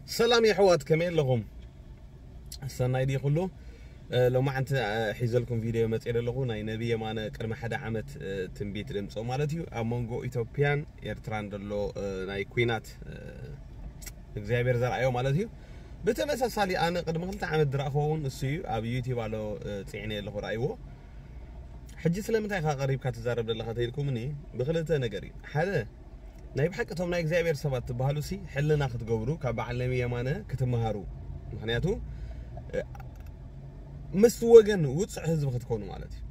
ሰላም የሕዋት፣ ከመይ ኣለኹም? ሰናይ ድዩ ኩሉ? እ፣ ሎማዓንቲ፣ እ፣ ሒዘልኩም ቪድዮ መፅእ ኣለኹ። ናይ ነቢ የማነ ቅድሚ ሓደ ዓመት፣ እ፣ ትንቢት ደምፅኦ ማለት እዩ። ኣብ መንጎ ኢትዮጵያን ኤርትራን ዘሎ፣ እ፣ ናይ ኲናት፣ እ፣ እግዚኣብሔር ዘርኣዮ ማለት እዩ። ብተመሳሳሊ ኣነ ቅድሚ ክልተ ዓመት ዝረኣኽዎ እውን እሱ እዩ። ኣብ ዩቲዩብ ኣሎ፣ እ፣ ፅዒነ ኣለኹ፣ ረኣይዎ። ሕጂ ስለምንታይ ኢኻ ቀሪብካ ትዛረብ ዘለኻ ተይልኩምኒ፣ ብክልተ ነገር እዩ። ሓደ፣ ናይ ብሓቂ እቶም ናይ እግዚኣብሔር ሰባት ትበሃሉ ሲ ሕልና ክትገብሩ ካብ በዓል ነቢ የማነ ክትመሃሩ። ምክንያቱ፣ እ፣ ምስ ወገን ውፅዕ ህዝቢ ክትኮኑ ማለት እዩ።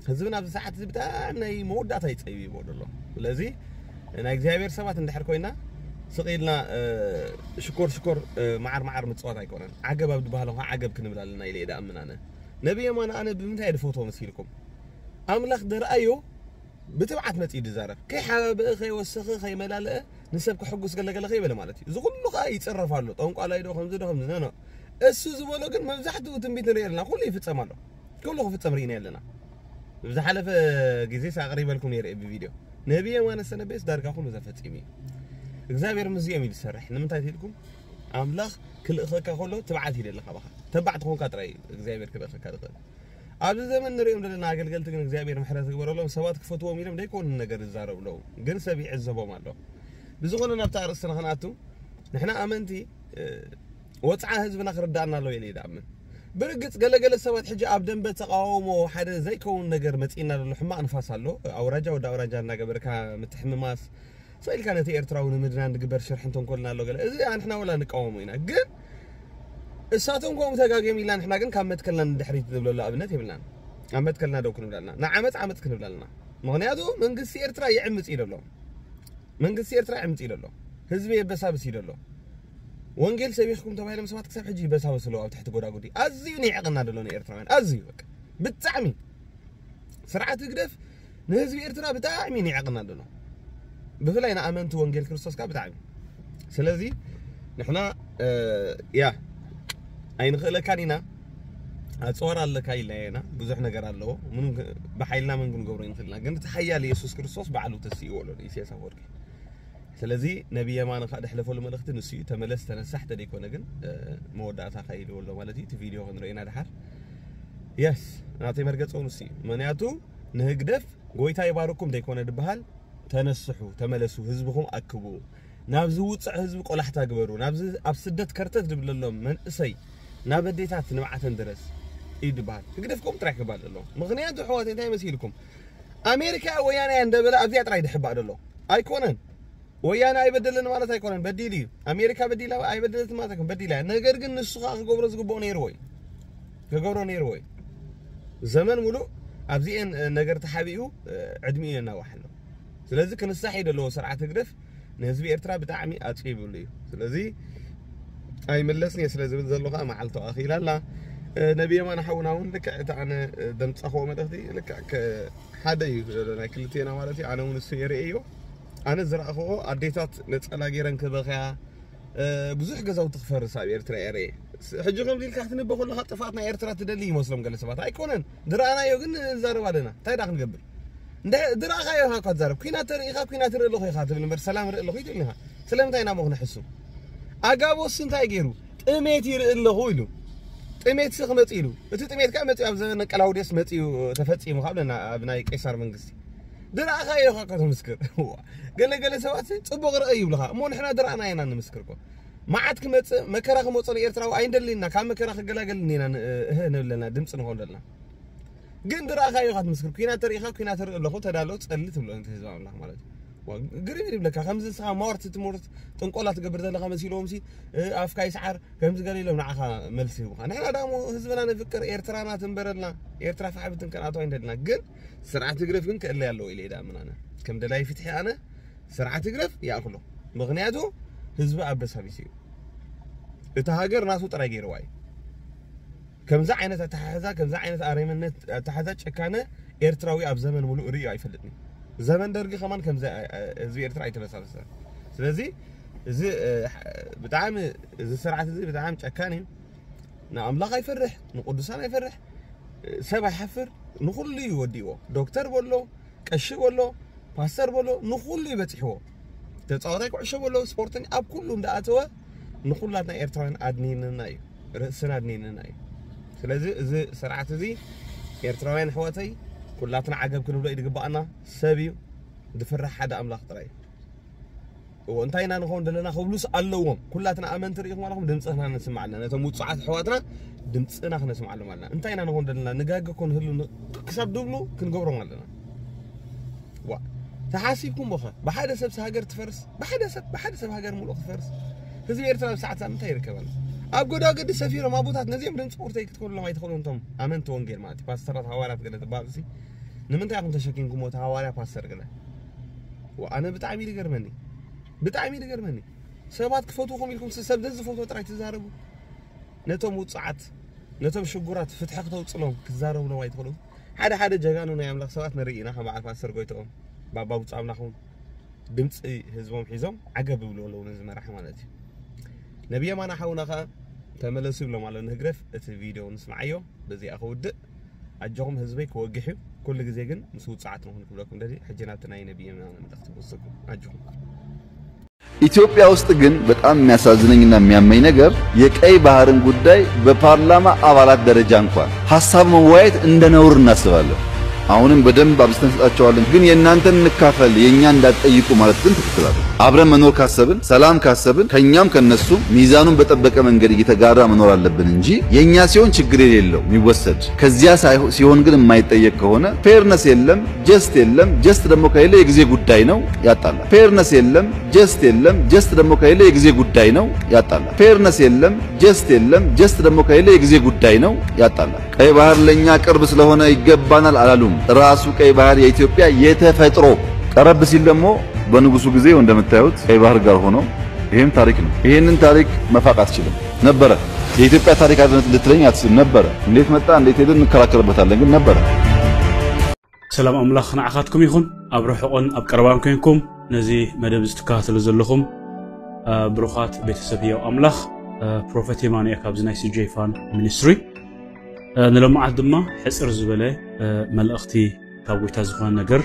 ህዝብና ኣብዚ ሰዓት እዚ ብጣዕሚ ናይ መወዳእታ ይፀይብ ይቦ ዘሎ። ስለዚ ናይ እግዚኣብሔር ሰባት እንድሕር ኮይና ስቕ ኢልና፣ እ፣ ሽኮር ሽኮር፣ እ፣ መዓር መዓር ምፅዋት ኣይኮነን። ዓገብ ኣብ ዝበሃል ኸዓ ዓገብ ክንብል ኣለና ኢለ እየ ድኣምን ኣነ። ነቢ የማነ ኣነ ብምንታይ እየ ድፈትዎ መሲልኩም? ኣምላኽ ደርኣዮ ብትብዓት መጺኡ ድዛረብ። ከይሓባበአ፣ ከይወሰኸ፣ ከይመላለአ፣ ንሰብ ከሕጉስ ገለገለ ከይበለ ማለት እዩ። እዚ ኩሉ ከኣ ይጽረፍ ኣሎ። ጠንቋላይ ዶ፣ ከምዚ ዶ፣ ከምዚ፣ ኖ፣ ኖ። እሱ ዝበሎ ግን መብዛሕትኡ ትንቢት ንርኢ ኣለና። ኩሉ ይፍጸም ኣሎ። ኩሉ ክፍጸም ርኢና ኣለና። ብዝሓለፈ ግዜ ኣቕሪበልኩም ነይረ እየ ብቪድዮ። ነቢ የማነ ዝተነበየስ ዳርጋ ኩሉ ተፈጺሙ እዩ። እግዚኣብሔር ምስዚኦም እዩ ዝሰርሕ። ንምንታይ ኢልኩም? ኣምላኽ ክልእኸካ ከሎ ትብዓት ይደሊ ካባኻ። ተባዕ ተኾንካ ጥራይ እዩ እግዚኣብሔር ክልእኸካ ዝኽእል። ኣብዚ ዘመን ንሪኦም ዘለና ኣገልገልቲ ግን እግዚኣብሔር ምሕረት ይግበረሎም። ሰባት ክፈትዎም ኢሎም ዘይኮኑ ነገር ይዛረቡ ኣለዉ። ግን ሰብ ይዕዘቦም ኣሎ። ብዝኾነ ናብቲ ኣርእስትና ክንኣቱ፣ ንሕና ኣመንቲ፣ እ፣ ወጽዓ ህዝብና ክርዳእና ኣለዎ ኢለ ይድኣምን። ብርግጽ ገለገለ ሰባት ሕጂ ኣብ ደንበ ተቃውሞ ሓደ ዘይከውን ነገር መጺእና ዘሎ ሕማቕ ንፋስ ኣሎ። ኣውራጃ ወዲ ኣውራጃ እናገበርካ ምትሕምማስ፣ ስቕ ኢልካ ነቲ ኤርትራዊ ንምድናን ዝግበር ሽርሕን ተንኮልን ኣሎ ገለ። እዚ ንሕና ወላ ንቃወሞ ኢና። ግን እሳቶም ከምኡ ተጋግዮም ኢልና ንሕና ግን ካብ መትከልና ንድሕሪት ዝብለሉ ኣብነት የብልናን። ኣብ መትከልና ደው ክንብል ኣለና። ንዓመጽ ዓመጽ ክንብል ኣለና። ምኽንያቱ መንግስቲ ኤርትራ ይዕምጽ እዩ ዘሎ። መንግስቲ ኤርትራ ይዕምጽ እዩ ዘሎ። ህዝቢ የበሳብስ እዩ ዘሎ። ወንጌል ሰቢኽኩም ተባሂሎም ሰባት ክሳብ ሕጂ ይበሳበሱ ኣለዉ ኣብ ትሕቲ ጎዳጉዲ። ኣዝዩ ንዕቕና ዘሎ ንኤርትራውያን። ኣዝዩ በቃ። ብጣዕሚ። ስርዓት ህግደፍ ንህዝቢ ኤርትራ ብጣዕሚ ንዕቕና ኣሎ። ብፍላይ ንኣመንቲ ወንጌል ክርስቶስ ከኣ ብጣዕሚ። ስለዚ ንሕና፣ እ፣ ያ፣ ኣይንኽእለካን ኢና፣ ኣጽዋር ኣለካ ኢልናዮ ኢና። ብዙሕ ነገር ኣለዎ። ምንም ክ-፣ ብሓይልና ምን ክንገብሮ ኣይንኽእልና። ግን እቲ ሓያል የሱስ ክርስቶስ ባዕሉ ተስእዎ ኣሎ ንኢሳያስ ኣፈወርቂ። ስለዚ ነቢ የማነ ከኣ ደሕለፈሉ መልእኽቲ ንሱ እዩ። ተመለስ፣ ተነሳሕ፣ ተደይኮነ ግን፣ እ፣ መወዳእታኻ ኢልዎ ኣሎ ማለት እዩ። እቲ ቪድዮ ክንርእዮ ኢና ደሓር። የስ፣ ናተይ መርገጺ እውን ንሱ እዩ። ምኽንያቱ ንህግደፍ ጎይታ ይባርኩም ዘይኮነ ድበሃል፣ ተነስሑ፣ ተመለሱ፣ ህዝብኹም ኣክቡ፣ ናብዚ ውጽዕ ህዝቢ ቆላሕታ ግበሩ፣ ናብዚ ኣብ ስደት ከርተት ድብለሎም መንእሰይ ናብ ኣዴታት ንብዓተን ድረስ እዩ ድበሃል። ህግደፍ ከምኡ ጥራይ ክባል ኣለዎ። ምኽንያቱ ኣሕዋተይ እንታይ መሲልኩም? ኣሜሪካ ወያነ እያ እንደበለ ኣብዚኣ ጥራይ ድሕባእ ደሎ ኣይኮነን። ወያነ ኣይበደለን ማለት ኣይኮነን፣ በዲሉ እዩ። ኣሜሪካ በዲላ ኣይበደለትን ማለት ኣይኮነን፣ በዲላ እያ። ነገር ግን ንሱ ከኣ ክገብሮ ዝግብኦ ነይርዎ እዩ። ክገብሮ ነይርዎ እዩ። ዘመን ሙሉእ ኣብዚኤን፣ እ፣ ነገር ተሓቢኡ፣ እ፣ ዕድሚኡ የናውሕ ኣሎ። ስለዚ ክንሳሕ እዩ ዘለዎ ስርዓት ህግደፍ ንህዝቢ ኤርትራ ብጣዕሚ ኣጽቢብሉ እዩ። ስለዚ ኣይምለስን እየ ስለ ዝብል ዘሎ ከኣ መዓልቱ ኣኺላ ኣላ። እ፣ ነቢ የማነ ሓውና እውን ልክዕ እቲ ኣነ፣ እ፣ ደምጻኽዎ መልእኽቲ ልክዕ ከ-፣ ሓደ እዩ ዘሎ ናይ ክልቴና ማለት እዩ። ኣነ እውን እሱ እየ ርእየዮ። ኣነ ዝረኣኽዎ ኣዴታት ነጸላ ገይረን ክበኽያ፣ እ፣ ብዙሕ ገዛውቲ ክፈርስ ኣብ ኤርትራ እየ ርእየ። ስ-፣ ሕጂ ከምዚ ኢልካ ክትንበ ከለኻ ጥፍኣት ናይ ኤርትራ ትደሊ ይመስሎም ገለ ሰባት። ኣይኮነን። ዝረኣናዮ ግን ንዛረብ ኣለና። እንታይ ደኣ ክንገብር? እንደ-፣ ዝረኣኻዮ ኢኻ እኳ ትዛረብ። ኲናት ተርኢ ኢኻ፣ ኲናት ይርኢ ኣለኹ ኢኻ ትብል እምበር ሰላም ይርኢ ኣለኹ ኣይትብልን ኢኻ። ስለምንታይ ኢና እሞ ክነሕሱ? ኣጋቦስ እንታይ ገይሩ? ጥሜት ይርኢ ኣለኹ ኢሉ። ጥሜትሲ ክመጽእ ኢሉ። እቲ ጥሜት ከኣ መጺኡ ኣብ ዘመነ ቀላውዴስ መጺኡ ተፈጺሙ ካብ ለና ኣብ ናይ ቄሳር መንግስቲ። ዝረኣኻዮ ኢኻ እኳ ተምስክር። እዋ። ገለ ገለ ሰባት ጽቡቕ ርእ ይብልኻ። እሞ ንሕና ዝረኣና ኢና ንምስክር እኮ። መዓት ክመጽእ፣ መከራ ክመጽእ ንኤርትራዊ ኣይንደልን ኢና። ካብ መከራ ክገላገል ኢና ን-፣ እህ ንብል ኣለና፣ ድምጺ ንኾን ዘለና። ግን ዝረኣኻዮ ኢኻ ትምስክር። ኲናት ተሪኢኻ፣ ኲናት ርኢ ኣለኹ፣ ተዳሎ፣ ጸሊ ትብሎ ነቲ ህዝቢ ኣምላኽ ማለት እዩ። ዋ፣ ግርም እዩ ዝብለካ። ከምዚ ንስኻ ማወርቲ ትምህርት ጥንቆላ ትገብር ዘለኻ መሲልዎም ሲ፣ እ፣ ኣፍካ ይስዓር፣ ከምዚ ገለ ኢሎም ንዓኻ መልሲ ይህቡኻ። ንሕና ደኣ እሞ ህዝብና ንፍቅር፣ ኤርትራና ትንበረልና፣ ኤርትራ ፋሕ ብትን ከነኣትዋ ኣይንደልና። ግን ስርዓት ህግደፍ ግን ክእለይ ኣለዎ ኢለ እየ ደኣ ምናነ። ከም ደላይ ፍትሒ ኣነ ስርዓት ህግደፍ ይኣኽሎ። ምኽንያቱ ህዝቢ ኣበሳቢሱ እዩ። እታ ሃገር ናቱ ጥራይ ገይርዋ እዩ። ከምዚ ዓይነት ኣተሓሕዛ፣ ከምዚ ዓይነት ኣረመነት ኣተሓሕዛ ጨካነ ኤርትራዊ ኣብ ዘመን ሙሉእ ርእዩ ኣይፈልጥን እዩ። ዘመን ደርጊ ከማን ከምዚ ኣ-፣ ኣ-፣ ህዝቢ ኤርትራ ኣይተበሳበሰን። ስለዚ እዚ፣ እ፣ ብጣዕሚ፣ እዚ ስርዓት እዚ ብጣዕሚ ጨካን እዩ። ንኣምላኽ ኣይፈርሕ፣ ንቅዱሳን ኣይፈርሕ፣ ሰብ ኣይሓፍር፣ ንኹሉ እዩ ወዲእዎ። ዶክተር በሎ፣ ቀሺ በሎ፣ ፓስተር በሎ፣ ንኹሉ እዩ በጺሕዎ። ተጻዋታይ ኩዕሾ በሎ፣ ስፖርተኛ፣ ኣብ ኩሉ እንዳኣተወ ንኹላትና ኤርትራውያን ኣድኒንና እዩ፣ ርእስና ኣድኒንና እዩ። ስለዚ እዚ ስርዓት እዚ ኤርትራውያን ኣሕዋተይ ኩላትና ዓገብ ክንብሎ እዩ ዝግባኣና። ሰብ እዩ፣ ዝፍራሕ ሓደ ኣምላኽ ጥራይ እዩ። እዎ፣ እንታይ ኢና ንኸውን ዘለና ክብሉስ ኣለዎም። ኩላትና ኣመንቲ ርኢኹም ኣለኹም፣ ድምፅና ነስምዓልና፣ ነቶም ውፁዓት ኣሕዋትና ድምፅና ክነስምዓሎም ኣለና። እንታይ ኢና ንኸውን ዘለና፣ ንጋገ ኮን ህሉ ን- ክሳብ ድብሉ ክንገብሮም ኣለና። ዋ፣ ተሓሲብኩም ኸ ብሓደ ሰብስ ሃገር ትፈርስ? ብሓደ ሰብ ብሓደ ሰብ ሃገር ሙሉእ ክትፈርስ? ህዝቢ ኤርትራ ኣብ ሰዓት ምንታይ ይርከብ ኣሎ? ኣብ ጎዳገዲ ሰፊሮም ኣቦታት ነዚኦም ድምፂ ቁርተይ ክትከሉሎም ኣይትኽእሉን። እቶም ኣመንቲ ወንጌል ማለት እዩ፣ ፓስተራት፣ ሃዋርያት ገለ ዝበሃሉ ሲ ንምንታይ ኢኹም ተሸኪምኩሞ? እቲ ሃዋርያ ፓስተር ገለ ዋ፣ ኣነ ብጣዕሚ እዩ ዝገርመኒ፣ ብጣዕሚ እዩ ዝገርመኒ። ሰባት ክፈትውኹም ኢልኩም ሰብ ዘዝፈትዎ ጥራይ ትዛረቡ። ነቶም ውፅዓት፣ ነቶም ሽጉራት ፍትሒ ክተውፅሎም ክትዛረቡሎም ኣይትኽእሉም። ሓደ ሓደ ጀጋኑ ናይ ኣምላኽ ሰባት ንርኢ ኢና፣ ከም በዓል ፓስተር ጎይትኦም፣ ባባ ብፁዕ ኣምላኹም ድምፂ ህዝቦም ሒዞም ዓገብ ይብሉ ኣለዉ፣ ነዚ መራሒ ማለት እዩ። ነብየ ማና ሓውና ከዓ ተመለሱ ይብሎም ኣሎ ንህግደፍ። እቲ ቪድዮ ንስምዓዮ፣ በዚኣ ክውድእ። ኣጆኹም ህዝበይ ክወግሕ እዩ። ኩሉ ግዜ ግን ምስ ውፅዓት ንኹን ክብለኩም ደሊ። ሕጂ ናብቲ ናይ ነብየ ማና መልእኽቲ ክወስደኩም። ኣጆኹም። ኢትዮጵያ ውስጥ ግን በጣም የሚያሳዝነኝና የሚያመኝ ነገር የቀይ ባህርን ጉዳይ በፓርላማ አባላት ደረጃ እንኳን ሐሳብ መወያየት እንደ ነውር እናስባለን። አሁንም በደንብ አብዝተን እንሰጣቸዋለን። ግን የእናንተን እንካፈል የእኛ እንዳትጠይቁ ማለት ግን ትክክል አይደለም። አብረን መኖር ካሰብን ሰላም ካሰብን ከእኛም ከነሱም ሚዛኑን በጠበቀ መንገድ እየተጋራ መኖር አለብን እንጂ የእኛ ሲሆን ችግር የሌለው የሚወሰድ ከዚያ ሳይሆ- ሲሆን ግን የማይጠየቅ ከሆነ ፌርነስ የለም፣ ጀስት የለም። ጀስት ደግሞ ከሌለ የጊዜ ጉዳይ ነው፣ ያጣላል። ፌርነስ የለም፣ ጀስት የለም። ጀስት ደግሞ ከሌለ የጊዜ ጉዳይ ነው፣ ያጣላል። ፌርነስ የለም፣ ጀስት የለም። ጀስት ደግሞ ከሌለ የጊዜ ጉዳይ ነው፣ ያጣላል። ቀይ ባህር ለእኛ ቅርብ ስለሆነ ይገባናል አላሉም። ራሱ ቀይ ባህር የኢትዮጵያ የተፈጥሮ ቀረብ ሲል ደግሞ በንጉሱ ጊዜ እንደምታዩት ቀይ ባህር ጋር ሆኖ ይህም ታሪክ ነው። ይህንን ታሪክ መፋቅ አትችልም። ነበረ። የኢትዮጵያ ታሪክ አይደለም ልትለኝ አትችልም። ነበረ። እንዴት መጣ እንዴት ሄደ እንከራከርበታለን፣ ግን ነበረ። ሰላም ኣምላኽ ንዓኻትኩም ይኹን። ኣብ ርሑቕን ኣብ ቀረባን ኮንኩም ነዚ መደብ እዚ ትከታተሉ ዘለኹም፣ እ፣ ብሩኻት ቤተሰብ ህያው ኣምላኽ፣ እ፣ ፕሮፌት የማነ እየ ካብዚ ናይ ሲጄ ፋን ሚኒስትሪ። እ፣ ንሎማዓት ድማ ሕጽር ዝበለ፣ እ፣ መልእኽቲ ካብ ጎይታ ዝኾነ ነገር፣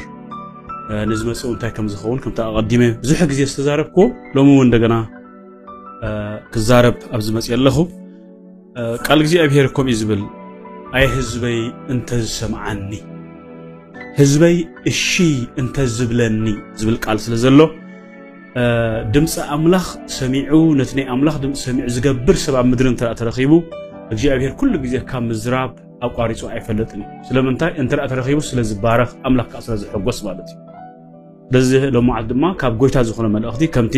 እ፣ ንዝመጽእ እንታይ ከም ዝኸውን ከምቲ ኣቐዲመ ብዙሕ ግዜ ዝተዛረብክዎ ሎሚ እውን እንደገና፣ እ፣ ክዛረብ ኣብ ዝመጽእ ኣለኹ። እ፣ ቃል እግዚኣብሔር ከምኡ እዩ ዝብል፣ ኣይ ህዝበይ እንተዝሰምዓኒ፣ ህዝበይ እሺ እንተዝብለኒ ዝብል ቃል ስለ ዘሎ፣ እ፣ ድምፂ ኣምላኽ ሰሚዑ፣ ነቲ ናይ ኣምላኽ ድምፂ ሰሚዑ ዝገብር ሰብ ኣብ ምድሪ እንተ ተረኺቡ፣ እግዚኣብሔር ኩሉ ግዜ ካብ ምዝራብ ኣቋሪፁ ኣይፈልጥን እዩ። ስለምንታይ? እንተ ተረኺቡ ስለ ዝባረኽ፣ ኣምላኽ ከዓ ስለ ዝሕጎስ ማለት እዩ። በዚ ሎማዓት ድማ ካብ ጎይታ ዝኾነ መልእኽቲ ከምቲ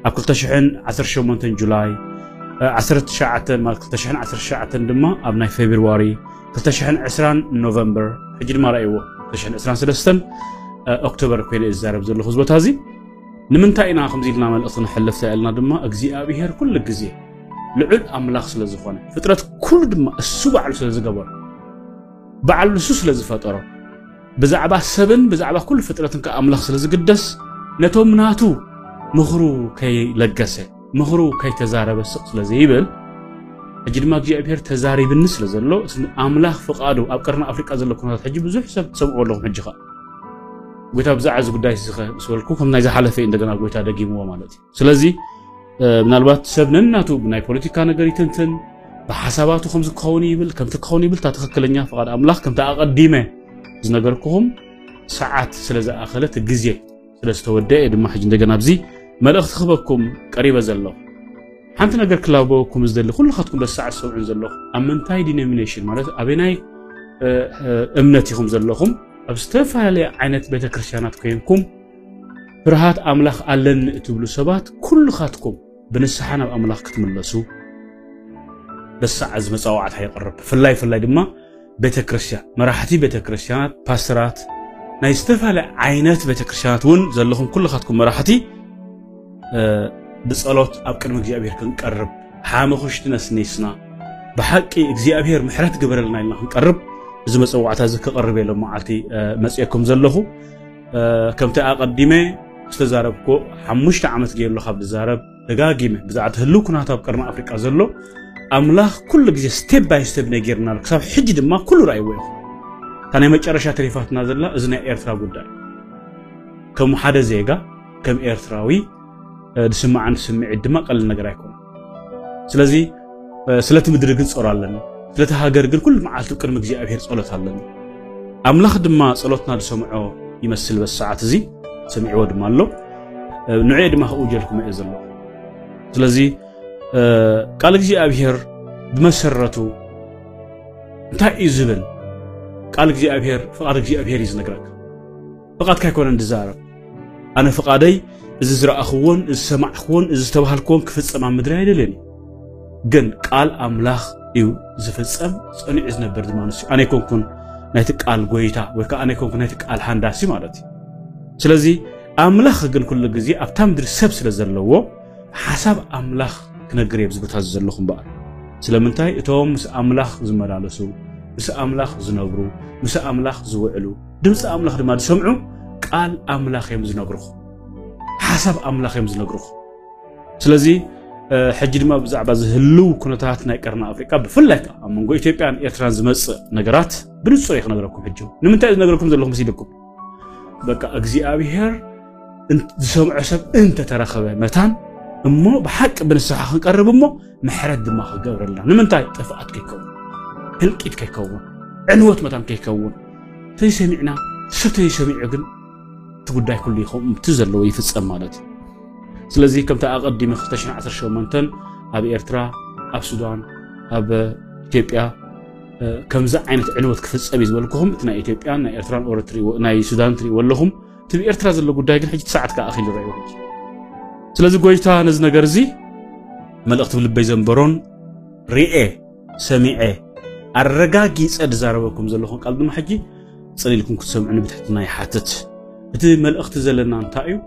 ኣብ ክልተ ሽሕን ዓሰርተ ሸሞንተን ጁላይ፣ እ፣ ዓሰርተ ትሽዓተ ማለት ክልተ ሽሕን ዓሰርተ ትሽዓተን ድማ ኣብ ናይ ፌብርዋሪ፣ ክልተ ሽሕን ዕስራን ኖቨምበር፣ ሕጂ ድማ ረኣይዎ፣ ክልተ ሽሕን ዕስራን ሰለስተን፣ እ፣ ኦክቶበር ኮይነ እየ ዝዛረብ ዘለኹ። እዚ ቦታ እዚ ንምንታይ ኢና ከምዚ ኢልና መልእኽቲ ነሕልፍ ኢልና ድማ እግዚኣብሄር ኩሉ ግዜ ልዑል ኣምላኽ ስለ ዝኾነ፣ ፍጥረት ኩሉ ድማ እሱ ባዕሉ ስለ ዝገበሮ፣ ባዕሉ ንሱ ስለ ዝፈጠሮ፣ ብዛዕባ ሰብን ብዛዕባ ኩሉ ፍጥረትን ከኣ ኣምላኽ ስለ ዝግደስ፣ ነቶም ናቱ ምኽሩ ከይለገሰ፣ ምኽሩ ከይተዛረበ ስቕ ስለ ዘይብል፣ ሕጂ ድማ እግዚኣብሔር ተዛሪብኒ ስለ ዘሎ፣ ኣምላኽ ፍቓዱ ኣብ ቀርኒ ኣፍሪቃ ዘሎ ኩነታት ሕጂ ብዙሕ ሰብ ትሰምዕዎ ኣለኹም። ሕጂ ኸኣ ጎይታ ብዛዕባ እዚ ጉዳይ እዚ ኸ ምስ በልኩ፣ ከም ናይ ዝሓለፈ እዩ እንደገና ጎይታ ደጊምዎ ማለት እዩ። ስለዚ እ፣ ምናልባት ሰብ ነናቱ ብናይ ፖለቲካ ነገር ይትንትን፣ ብሓሳባቱ ከምዚ ክኸውን ይብል፣ ከምቲ ክኸውን ይብል፣ እታ ትኽክለኛ ፍቓድ ኣምላኽ ከምቲ ኣቐዲመ ዝነገርኩኹም ሰዓት ስለ ዝኣኸለት ግዜ ስለ ዝተወደአ ድማ ሕጂ እንደገና ኣብዚ መልእኽቲ ክህበኩም ቀሪበ ዘለኹ። ሓንቲ ነገር ክላበወኩም ዝደሊ ኩልኻትኩም በዚ ሰዓት ዝሰምዑን ዘለኹም ኣብ ምንታይ ዲኖሚኔሽን ማለት ኣበናይ፣ እ፣ እ፣ እምነት ኢኹም ዘለኹም ኣብ ዝተፈላለየ ዓይነት ቤተ ክርስቲያናት ኮይንኩም ፍርሃት ኣምላኽ ኣለኒ እትብሉ ሰባት ኩልኻትኩም ብንስሓ ናብ ኣምላኽ ክትምለሱ በዚ ሰዓት እዚ መጻዋዕታ የቕርብ። ብፍላይ ፍላይ ድማ ቤተ ክርስቲያን፣ መራሕቲ ቤተ ክርስቲያናት፣ ፓስተራት፣ ናይ ዝተፈላለየ ዓይነት ቤተ ክርስቲያናት እውን ዘለኹም ኩልኻትኩም መራሕቲ፣ እ፣ ብጸሎት ኣብ ቅድሚ እግዚኣብሔር ክንቀርብ፣ ሓመኹሽቲ ነስኒስና፣ ብሓቂ እግዚኣብሔር ምሕረት ግበረልና ኢልና ክንቀርብ፣ እዚ መጸዋዕታ እዚ ክቐርብ እየ ሎም መዓልቲ፣ እ፣ መጺኤኩም ዘለኹ። እ፣ ከምቲ ኣቐዲመ ዝተዛረብኩ፣ ሓሙሽተ ዓመት ገይሩ ካብ ዝዛረብ፣ ደጋጊመ ብዛዕባ እቲ ህልው ኩነታት ኣብ ቀርኒ ኣፍሪቃ ዘሎ፣ ኣምላኽ ኩሉ ግዜ ስቴፕ ባይ ስቴፕ ነጊርና ኣሎ። ክሳብ ሕጂ ድማ ኩሉ ረኣይዎ ኢኹም። እታ ናይ መጨረሻ ተሪፋትና ዘላ እዚ ናይ ኤርትራ ጉዳይ። ከም ሓደ ዜጋ፣ ከም ኤርትራዊ፣ እ፣ ዝስምዓኒ ስምዒት ድማ ቀሊል ነገር ኣይኮነን። ስለዚ ስለቲ ምድሪ ግን ጸሎ ኣለኒ፣ ስለቲ ሃገር ግን ኩሉ መዓልቲ ቅድሚ እግዚኣብሔር ጸሎት ኣለኒ። ኣምላኽ ድማ ጸሎትና ዝሰምዖ ይመስል። በዚ ሰዓት እዚ ሰሚዕዎ ድማ ኣሎ። ንዕኡ ድማ ከእውጀልኩም እየ ዘለኹ። ስለዚ ቃል እግዚኣብሔር ብመሰረቱ እንታይ እዩ ዝብል? ቃል እግዚኣብሔር ፍቓድ እግዚኣብሔር እዩ ዝነግረካ። ፍቓድካ ኣይኮነን ዝዛረብ። ኣነ ፍቓደይ እዚ ዝረኣኽዎን እዚ ዝሰማዕኽዎን እዚ ዝተባህልክዎን ክፍጸም ኣብ ምድሪ ኣይደልየን እዩ። ግን ቃል ኣምላኽ እዩ ዝፍጸም፣ ጸኒዑ ዝነብር ድማ ንሱ። ኣነ ኣይኮንኩን ናይቲ ቃል ጎይታ ወይ ከዓ ኣነ ኣይኮንኩን ናይቲ ቃል ሃንዳሲ ማለት እዩ። ስለዚ ኣምላኽ ግን ኩሉ ግዜ ኣብታ ምድሪ ሰብ ስለ ዘለዎ ሓሳብ ኣምላኽ ክነግር እየ ኣብዚ ቦታ እዚ ዘለኹ እምበኣር። ስለምንታይ እቶም ምስ ኣምላኽ ዝመላለሱ፣ ምስ ኣምላኽ ዝነብሩ፣ ምስ ኣምላኽ ዝውዕሉ፣ ድምፂ ኣምላኽ ድማ ዝሰምዑ ቃል ኣምላኽ እዮም ዝነግሩኹ፣ ሓሳብ ኣምላኽ እዮም ዝነግሩኹ። ስለዚ ሕጂ ድማ ብዛዕባ ዝህልው ኩነታት ናይ ቀርኒ ኣፍሪቃ ብፍላይ ከዓ ኣብ መንጎ ኢትዮጵያን ኤርትራን ዝመፅእ ነገራት ብንፁር እየ ክነግረኩም። ሕጂ ንምንታይ እዩ ዝነግረኩም ዘለኹ መሲልኩም? በቃ እግዚኣብሔር ዝሰምዖ ሰብ እንተተረኸበ መታን እሞ ብሓቂ ብንስሓ ክንቀርብ እሞ ምሕረት ድማ ክገብረልና። ንምንታይ ጥፍኣት ከይከውን፣ ህልቂት ከይከውን፣ ዕንወት መታን ከይከውን፣ ተይሰሚዕና ሰብ ተይሰሚዑ ግን እቲ ጉዳይ ኩሉ ይኸውን እቲ ዘለዎ ይፍጸም ማለት እዩ። ስለዚ ከምቲ ኣቐዲመ ክልተ ሽሕን ዓሰርተ ሸሞንተን ኣብ ኤርትራ፣ ኣብ ሱዳን፣ ኣብ ኢትዮጵያ ከምዚ ዓይነት ዕንወት ክፍጸም እዩ ዝበልኩኹም እቲ ናይ ኢትዮጵያን ናይ ኤርትራን ኦረ ናይ ሱዳን ትሪእዎ ኣለኹም። እቲ ብኤርትራ ዘሎ ጉዳይ ግን ሕጂ ሰዓት ከዓ ኣኺሉ ረእይዎ ሕጂ። ስለዚ ጎይታ ነዚ ነገር እዚ መልእኽቲ ብልበይ ዘንበሮን ርኤ ሰሚዐ ኣረጋጊጸ ዝዛረበኩም ዘለኹን ቃል ድማ ሕጂ ጽን ኢልኩም ክትሰምዑኒ ብትሕትና ይሓትት። እቲ መልእኽቲ ዘለና እንታይ እዩ?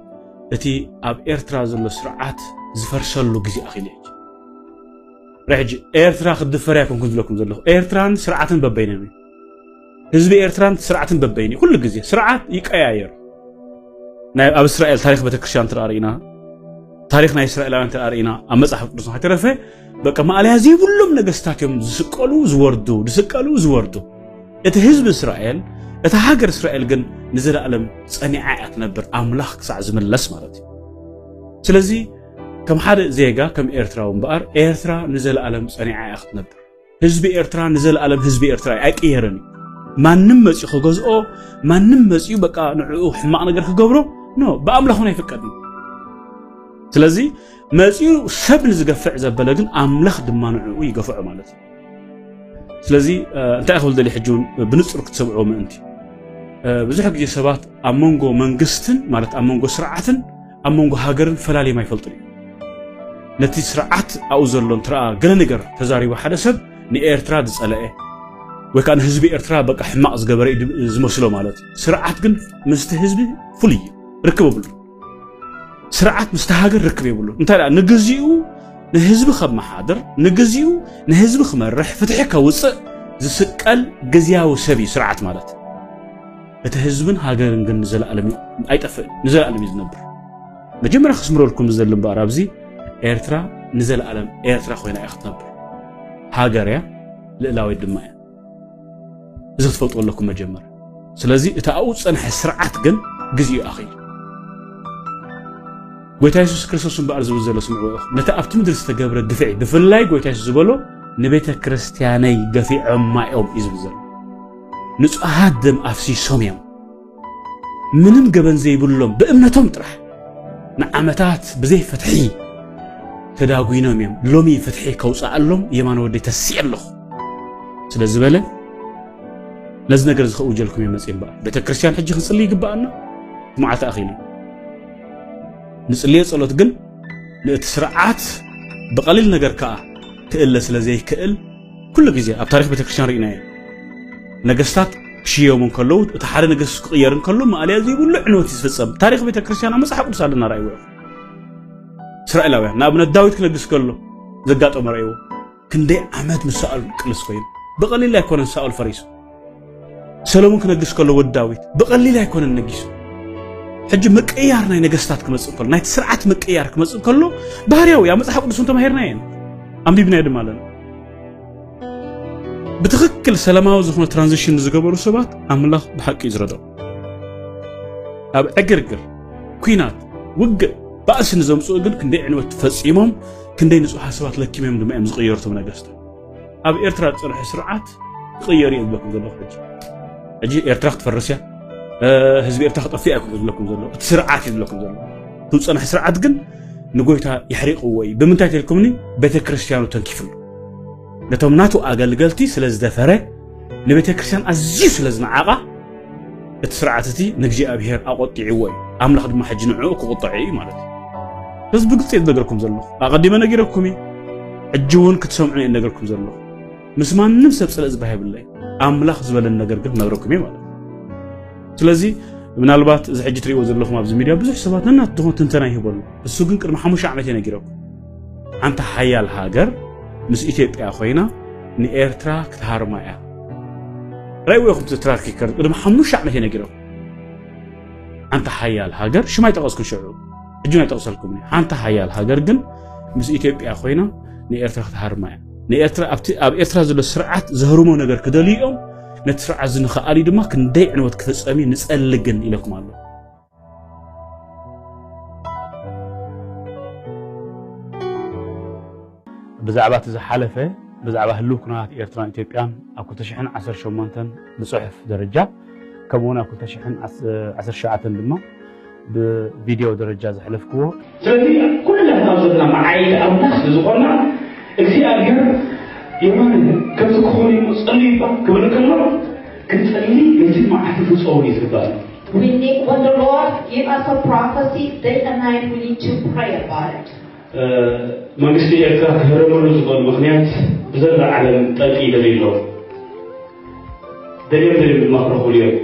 እቲ ኣብ ኤርትራ ዘሎ ስርዓት ዝፈርሰሉ ግዜ ኣኺሉ ሕጂ። ሕጂ ኤርትራ ክትድፈር ኣይኮንኩን ዝብለኩም ዘለኹ። ኤርትራን ስርዓትን በበይኖም እዩ። ህዝቢ ኤርትራን ስርዓትን በበይኑ ኩሉ ግዜ ስርዓት ይቀያየር። ናይ ኣብ እስራኤል ታሪኽ ቤተክርስትያን ትርኣ ርኢና፣ ታሪኽ ናይ እስራኤላውያን ትርኣ ርኢና ኣብ መጽሓፍ ቅዱስ ከይተረፈ በቃ ማእለያ ዘይብሎም ነገስታት እዮም ዝስቀሉ ዝወርዱ፣ ዝስቀሉ ዝወርዱ። እቲ ህዝቢ እስራኤል፣ እታ ሃገር እስራኤል ግን ንዘለኣለም ጸኒዓ እያ ትነብር፣ ኣምላኽ ክሳዕ ዝምለስ ማለት እዩ። ስለዚ ከም ሓደ ዜጋ ከም ኤርትራዊ እምበኣር ኤርትራ ንዘለኣለም ጸኒዓ እያ ክትነብር። ህዝቢ ኤርትራ ንዘለኣለም ህዝቢ ኤርትራ እዩ፣ ኣይቅየርን እዩ። ማንም መጺኡ ክገዝኦ፣ ማንም መጺኡ በቃ ንዕኡ ሕማቕ ነገር ክገብሮ ኖ ብኣምላኽ እውን ኣይፍቀድን። ስለዚ መጺኡ ሰብ ንዝገፍዕ ዘበለ ግን ኣምላኽ ድማ ንዕኡ ይገፍዖ ማለት እዩ። ስለዚ እንታይ ክብል ደሊ ሕጂ እውን ብንጹር ክትሰምዕዎ ምእንቲ ብዙሕ ግዜ ሰባት ኣብ መንጎ መንግስትን ማለት ኣብ መንጎ ስርዓትን ኣብ መንጎ ሃገርን ፈላልዮም ኣይፈልጡን እዮም። ነቲ ስርዓት ኣብኡ ዘሎ እንትረኣ ገለ ነገር ተዛሪቡ ሓደ ሰብ ንኤርትራ ዝጸለአ ወይ ከዓ ንህዝቢ ኤርትራ በቃ ሕማቕ ዝገበረ እዩ ዝመስሎ ማለት እዩ። ስርዓት ግን ምስቲ ህዝቢ ፍሉይ እዩ፣ ርክብ የብሉ። ስርዓት ምስቲ ሃገር ርክብ የብሉ። እንታይ ደኣ ንግዚኡ ንህዝቢ ከመሓድር ንግዚኡ ንህዝቢ ክመርሕ ፍትሒ ከውፅእ ዝስቀል ግዝያዊ ሰብ እዩ ስርዓት ማለት። እቲ ህዝብን ሃገርን ግን ንዘለኣለም እዩ ኣይጠፍእን፣ ንዘለኣለም እዩ ዝነብር። መጀመርያ ክስምረልኩም ዝደሊ እምበኣር ኣብዚ ኤርትራ ንዘለኣለም ኤርትራ ኮይና እያ ክትነብር። ሃገር እያ፣ ልእላዊት ድማ እያ። እዚ ክትፈልጡ ኣለኩም መጀመርያ። ስለዚ እቲ ኣብኡ ዝጸንሐ ስርዓት ግን ግዜኡ ኣኺሉ። ጎይታ የሱስ ክርስቶስ እምበኣር ዝብል ዘሎ ስምዕዎ ኢኹም። ነቲ ኣብቲ ምድሪ ዝተገብረ ግፍዒ ብፍላይ ጎይታ የሱስ ዝበሎ ንቤተ ክርስትያነይ ገፊዖማ እዮም እዩ ዝብል ዘሎ። ንጹሃት ደም ኣፍሲሶም እዮም። ምንም ገበን ዘይብሎም ብእምነቶም ጥራሕ ንዓመታት ብዘይ ፍትሒ ተዳጒኖም እዮም። ሎሚ ፍትሒ ከውፅኣሎም የማነ ወደይ ተሲኤ ኣለኹ ስለ ዝበለ ነዚ ነገር እዚ ከእውጀልኩም እየ መፅእ እምበኣር ቤተ ክርስትያን ሕጂ ክንፅሊ ይግበኣና። መዓልቲ ኣኺሉ ንፅልዮ ጸሎት ግን ንእቲ ስርዓት ብቐሊል ነገር ከኣ ክእለ ስለ ዘይክእል ኩሉ ግዜ ኣብ ታሪኽ ቤተ ክርስትያን ርኢናዮ። ነገስታት ክሽየሙ እንከለዉ እቲ ሓደ ነገስት ክቕየር እንከሎ ማእለያ ዘይብሉ ዕንወት እዩ ዝፍጸም። ታሪኽ ቤተ ክርስትያን ኣብ መጽሓፍ ቅዱስ ኣለና ራእይዎ። እስራኤላውያን ንኣብነት ዳዊት ክነግስ ከሎ ዘጋጠሞ ራእይዎ። ክንደይ ዓመት ምስ ሳኦል ቅልስ ኮይኑ ብቐሊል ኣይኮነን ሳኦል ፈሪሱ። ሰሎሞን ክነግስ ከሎ ወዲ ዳዊት ብቐሊል ኣይኮነን ነጊሱ። ሕጂ ምቅያር ናይ ነገስታት ክመጽእ ከሎ ናይቲ ስርዓት ምቅያር ክመጽእ ከሎ ባህርያዊ ኣብ መጽሓፍ ቅዱስ እውን ተማሂርና እየን ኣንቢብናዮ ድማ ኣለና። ብትኽክል ሰላማዊ ዝኾነ ትራንዚሽን ንዝገበሩ ሰባት ኣምላኽ ብሓቂ እዩ ዝረድኦም። ኣብ ዕግርግር፣ ኲናት፣ ውግእ፣ ባእሲ ንዘምጽኡ ግን ክንደይ ዕንወት ፈጺሞም ክንደይ ንጹሃት ሰባት ለኪሞም ድማ እዮም ዝቕየሩ እቶም ነገስታት። ኣብ ኤርትራ ዝጸንሐ ስርዓት ክቕየር እዩ ዝብለኩም ዘለኹ። ሕጂ ሕጂ ኤርትራ ክትፈርስ እያ፣ ህዝቢ ኤርትራ ክጠፍእ እያ ዝብለኩም ዘሎ፣ እቲ ስርዓት እዩ ዝብለኩም ዘሎ። እቲ ዝጸንሐ ስርዓት ግን ንጎይታ የሕሪቕዎ እዩ። ብምንታይ ተልኩምኒ? ቤተክርስትያኑ ተንኪፍሉ። ነቶም ናቱ ኣገልገልቲ ስለ ዝደፈረ፣ ንቤተክርስትያን ኣዝዩ ስለ ዝነዓቓ፣ እቲ ስርዓት እቲ ንእግዚኣብሔር ኣቖጢዕዎ እዩ። ኣምላኽ ድማ ሕጂ ንዕኡ ክቑጠዖ እዩ ማለት እዩ። በዚ ብግልጺ እየ ዝነገርኩም ዘለኹ። ኣቐዲመ ነጊረኩም እዩ። ሕጂ እውን ክትሰምዑ እየ ነገርኩም ዘለኹ። ምስ ማንም ሰብ ጽልእ ዝበሃ የብለይ። ኣምላኽ ዝበለኒ ነገር ግን ክነግረኩም እየ ማለት እዩ። ስለዚ ምናልባት እዚ ሕጂ ትሪእዎ ዘለኹም ኣብዚ ሚድያ ብዙሕ ሰባት ነናት ዝኾን ትንተና ይህበሉ። እሱ ግን ቅድሚ ሓሙሽተ ዓመት እየ ነጊረኩም። ሓንቲ ሓያል ሃገር ምስ ኢትዮጵያ ኮይና ንኤርትራ ክትሃርማ እያ። ራይዎ ይኹም ትራክ ይከር ቅድሚ ሓሙሽተ ዓመት እየ ነጊረኩም። ሓንቲ ሓያል ሃገር ሽማ ይጠቐስኩን ሽዑ ሕጂ ናይ ጠቕሰልኩም ሓንቲ ሓያል ሃገር ግን ምስ ኢትዮጵያ ኮይና ንኤርትራ ክትሃርማ እያ። ንኤርትራ ኣብቲ ኣብ ኤርትራ ዘሎ ስርዓት ዘህርሞ ነገር ክደልዩ እዮም። ነቲ ስርዓት ዝንኽኣሊ ድማ ክንደይ ዕንወት ክፍጸም እዩ ንጸሊ ግን ኢለኩም ኣሎ። ብዛዕባ እቲ ዝሓለፈ ብዛዕባ ህልው ኩነታት ኤርትራን ኢትዮጵያን ኣብ ክልተ ሽሕን ዓሰርተ ሸሞንተን ብጽሑፍ ደረጃ ከምኡውን ኣብ ክልተ ሽሕን ዓሰርተ ሸዓተን ድማ ብቪድዮ ደረጃ ዘሕለፍክዎ ስለዚ ኩላትና ኣብ ዘለና መዓይዲ ኣምላኽ ስለ ዝኾንና እግዚኣብሔር የማን ከምዚ ክኾን እዩ ጸልዩ እባ ክብል ከሎ ክንጸሊ ነቲ መዓልቲ ፍጸሙ እዩ ዝግባእ። We need, when the Lord give us a prophecy, day and night we need to pray about it. መንግስቲ ኤርትራ ክህረመሉ ዝኽእል ምኽንያት ብዘላ ዓለም ጠንቂ ይደልዩ ኣለዉ። ደልዮም ደልዮም ድማ ክረኽብሉ እዮም።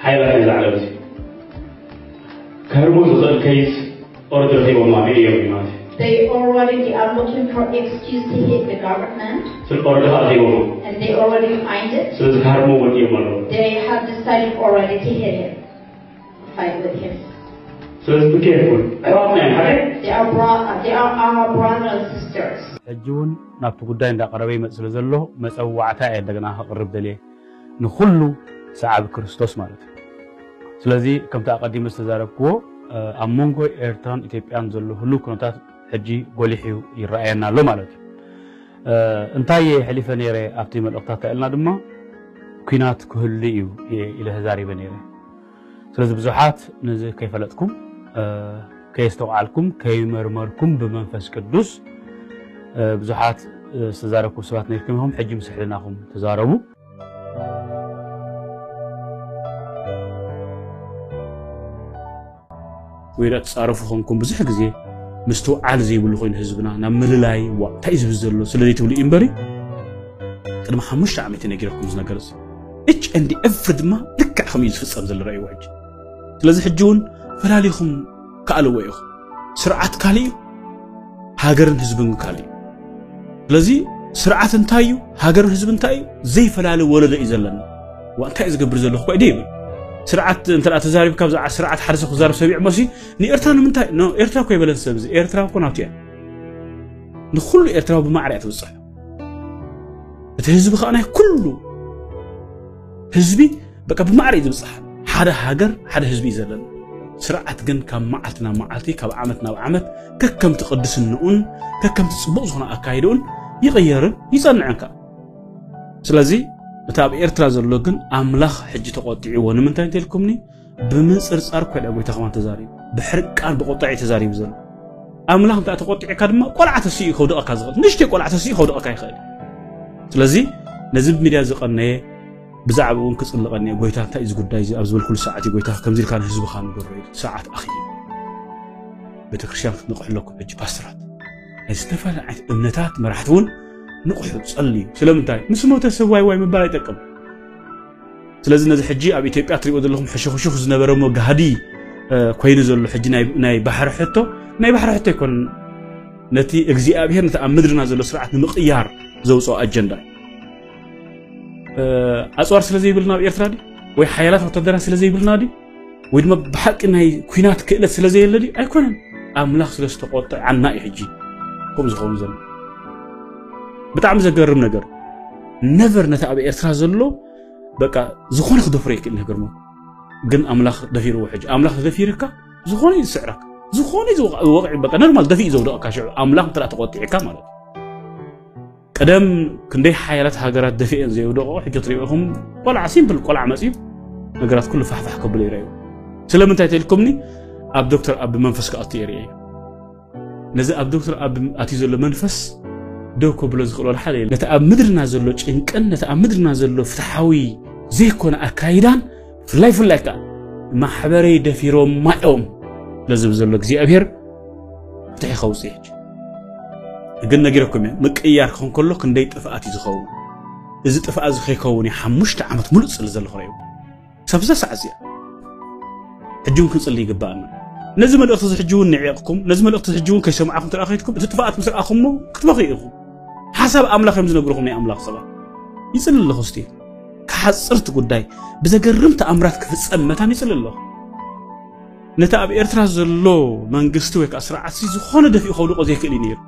ሓይላት ናይዛ ዓለም እዚ ክህርሞ ዝኽእል ከይስ ኦርድ ረኺቦም ማለት እዮም ማለት እዩ። They already, they are looking for excuse to hit the government. ስለ ኦርድ ረኺቦም። And they already find it. ስለዚ ክሃርሞ ወዲኦም ኣለዉ። They have decided already to hit him. Fight with him. ስለዚ ብከ ይኩን ኣሕዋትና እዮም ሓደ They are, bro- they are our brothers and sisters. ሕጂ እውን ናብቲ ጉዳይ እንዳቀረበ ይመጽእ ስለ ዘሎ መጸዋዕታ እየ እንደገና ከቕርብ ደልየ ንኹሉ ሰዓቢ ክርስቶስ ማለት እዩ። ስለዚ ከምቲ ኣቐዲመ ዝተዛረብክዎ ኣብ መንጎ ኤርትራን ኢትዮጵያን ዘሎ ህሉው ኩነታት ሕጂ ጎሊሑ ይረኣየና ኣሎ ማለት እዩ። እንታይ እየ ሕሊፈ ነይረ ኣብቲ መልእኽታት ኢልና ድማ ኲናት ክህሉ እዩ ኢለ ተዛሪበ ነይረ። ስለዚ ብዙሓት ነዚ ከይፈለጥኩም ከየስተውዓልኩም ከይመርመርኩም ብመንፈስ ቅዱስ ብዙሓት ዝተዛረብኩም ሰባት ነርኩም ኢኹም። ሕጂ ምስ ሕልናኹም ተዛረቡ። ወይ ደኣ ትጻረፉ ኾንኩም ብዙሕ ግዜ ምስትውዓል ዘይብሉ ኮይኑ ህዝብና ናብ ምልላይ ዋ እንታይ እዩ ዝብል ዘሎ ስለ ዘይትብሉ እዩ እምበሪ ቅድሚ ሓሙሽተ ዓመት ነጊረኩም ዝነገር እዚ እች ኤንዲ ኤፍሪ ድማ ልክዕ ከምኡ እዩ ዝፍጸም ዘሎ ረእይዎ ሕጂ። ስለዚ ሕጂ እውን ፈላሊኹም ከኣልዎ ኢኹም። ስርዓት ካልእ እዩ፣ ሃገርን ህዝብን ካልእ እዩ። ስለዚ ስርዓት እንታይ እዩ፣ ሃገርን ህዝብን እንታይ እዩ ዘይፈላለ ወለዶ እዩ ዘለና። ዋ እንታይ እዩ ዝገብር ዘለኹ እኳ እዩ ይብል። ስርዓት እንተ ተዛሪብካ ብዛዕባ ስርዓት ሓደ ሰብ ክዛረብ ሰሚዕ መሲ ንኤርትራ ንምንታይ ኖ ኤርትራ እኮ ይበለን ሰብ እዚ ኤርትራ እኮ ናቱ እያ። ንኩሉ ኤርትራዊ ብማዕረ እያ ትብፅሕ። እቲ ህዝቢ ከዓ ናይ ኩሉ ህዝቢ በቃ ብማዕረ እዩ ዝብፅሓ። ሓደ ሃገር ሓደ ህዝቢ እዩ ዘለና። ስርዓት ግን ካብ መዓልቲ ናብ መዓልቲ ካብ ዓመት ናብ ዓመት ከከምቲ ቅድስንኡን ከከምቲ ፅቡቕ ዝኾነ ኣካይድኡን ይቕየርን ይፀንዕን ከዓ። ስለዚ እቲ ኣብ ኤርትራ ዘሎ ግን ኣምላኽ ሕጂ ተቖጢዕዎ ንምንታይ እንተልኩምኒ ብምንፅርፃር እኮ ኢላ ጎይታ ከማን ተዛሪቡ። ብሕርቃን ብቁጣ እዩ ተዛሪቡ ዘሎ። ኣምላኽ እንታይ ተቆጢዕካ ድማ ቆልዓ ተስኡ ከውድቐካ ዝኽእል ንእሽተይ ቆልዓ ተስኡ ከውድቐካ ይኽእል። ስለዚ ነዚ ሚድያ ዝቐነየ ብዛዕባ እውን ክፅልቐኒ እየ። ጎይታ እንታይ እዚ ጉዳይ እዚ ኣብ ዝበልኩሉ ሰዓት እዩ ጎይታ ከምዚ ኢልካ ንህዝብኻ ንገሮ ኢሉ ሰዓት ኣኽዩ። ቤተክርስትያን ክትንቕሑ ኣለኩም ሕጂ ፓስተራት ናይ ዝተፈላለዩ ዓይነት እምነታት መራሕቲ እውን ንቑሑ ጸልዩ። ስለምንታይ ምስ ሞተ ሰብ ዋይ ዋይ ምባል ኣይጠቅም። ስለዚ ነዚ ሕጂ ኣብ ኢትዮጵያ ትሪእዎ ዘለኹም ሕሹኽሹኽ ዝነበረ እሞ ጋህዲ ኮይኑ ዘሎ ሕጂ ናይ ባሕሪ ሕቶ ናይ ባሕሪ ሕቶ ኣይኮን። ነቲ እግዚኣብሔር ነቲ ኣብ ምድርና ዘሎ ስርዓት ንምቕያር ዘውፅኦ ኣጀንዳ ኣፅዋር ስለ ዘይብልና ኣብ ኤርትራ ድዩ ወይ ሓያላት ወታደራት ስለ ዘይብልና ድዩ ወይ ድማ ብሓቂ ናይ ኩናት ክእለት ስለ ዘየለ ድዩ ኣይኮነን። ኣምላኽ ስለ ዝተቆጥዐና እዩ ሕጂ ከምኡ ዝኸውን ዘሎ። ብጣዕሚ ዘገርም ነገር ነቨር ነቲ ኣብ ኤርትራ ዘሎ በቃ ዝኾነ ክደፍሮ ይክእል ነገር ግን ኣምላኽ ደፊርዎ ሕጂ ኣምላኽ ተደፊርካ ዝኾነ እዩ ዝስዕረካ። ዝኾነ እዩ ዝወቕ- ወቕዒ በቃ ኖርማል ደፊእ ዘውደቐካ ሽዑ ኣምላኽ እንተ ተቆጢዕካ ማለት እዩ። ቀደም ክንደይ ሓያላት ሃገራት ደፊኤን ዘየውደቐ ሕጂ ትሪኢኹም ቆልዓ ሲምፕል ቆልዓ መፅዩ ነገራት ኩሉ ፋሕፋሕ ከብሎ ይረዩ። ስለምንታይ ተልኩምኒ ኣብ ዶክተር ኣብ መንፈስ ክኣቱ የርእየ ነዚ ኣብ ዶክተር ኣብ ኣትዩ ዘሎ መንፈስ ደው ከብሎ ዝኽእል ወላ ሓደ የለን። ነቲ ኣብ ምድርና ዘሎ ጭንቅን ነቲ ኣብ ምድርና ዘሎ ፍትሓዊ ዘይኮነ ኣካይዳን ፍላይ ፍላይ ከዓ ማሕበረይ ደፊሮማ እዮም ስለዝብል ዘሎ እግዚኣብሔር ፍትሒ ከውፅእ ሕጂ ግን ነጊረኩም እየ ምቅያር ክኾን ከሎ ክንደይ ጥፍኣት እዩ ዝኸውን። እዚ ጥፍኣት እዚ ከይከውን እዩ ሓሙሽተ ዓመት ሙሉእ ዝፅሊ ዘለኹ ረዩ ክሳብ እዛ ሰዓት እዚኣ ሕጂ እውን ክንፅሊ ይግባኣና። ነዚ መልእኽቲ እዚ ሕጂ እውን ንዒቕኩም ነዚ መልእኽቲ እዚ ሕጂ እውን ከይሰማዕኩም ትረኣ ከይድኩም እቲ ጥፍኣት ምስ ረኣኹሞ ክትበኽዩ ኢኹም። ሓሳብ ኣምላኽ እዮም ዝነግርኹም ናይ ኣምላኽ ሰባት። ይፅሊ ኣለኹ እስቲ ክሓፅርቲ ጉዳይ ብዘገርም ተኣምራት ክፍፀም መታን ይፅሊ ኣለኹ። ነቲ ኣብ ኤርትራ ዘሎ መንግስቲ ወይ ከዓ ስርዓት ሲ ዝኾነ ደፊኡ ከውድቆ ዘይክእል እዩ ነይሩ።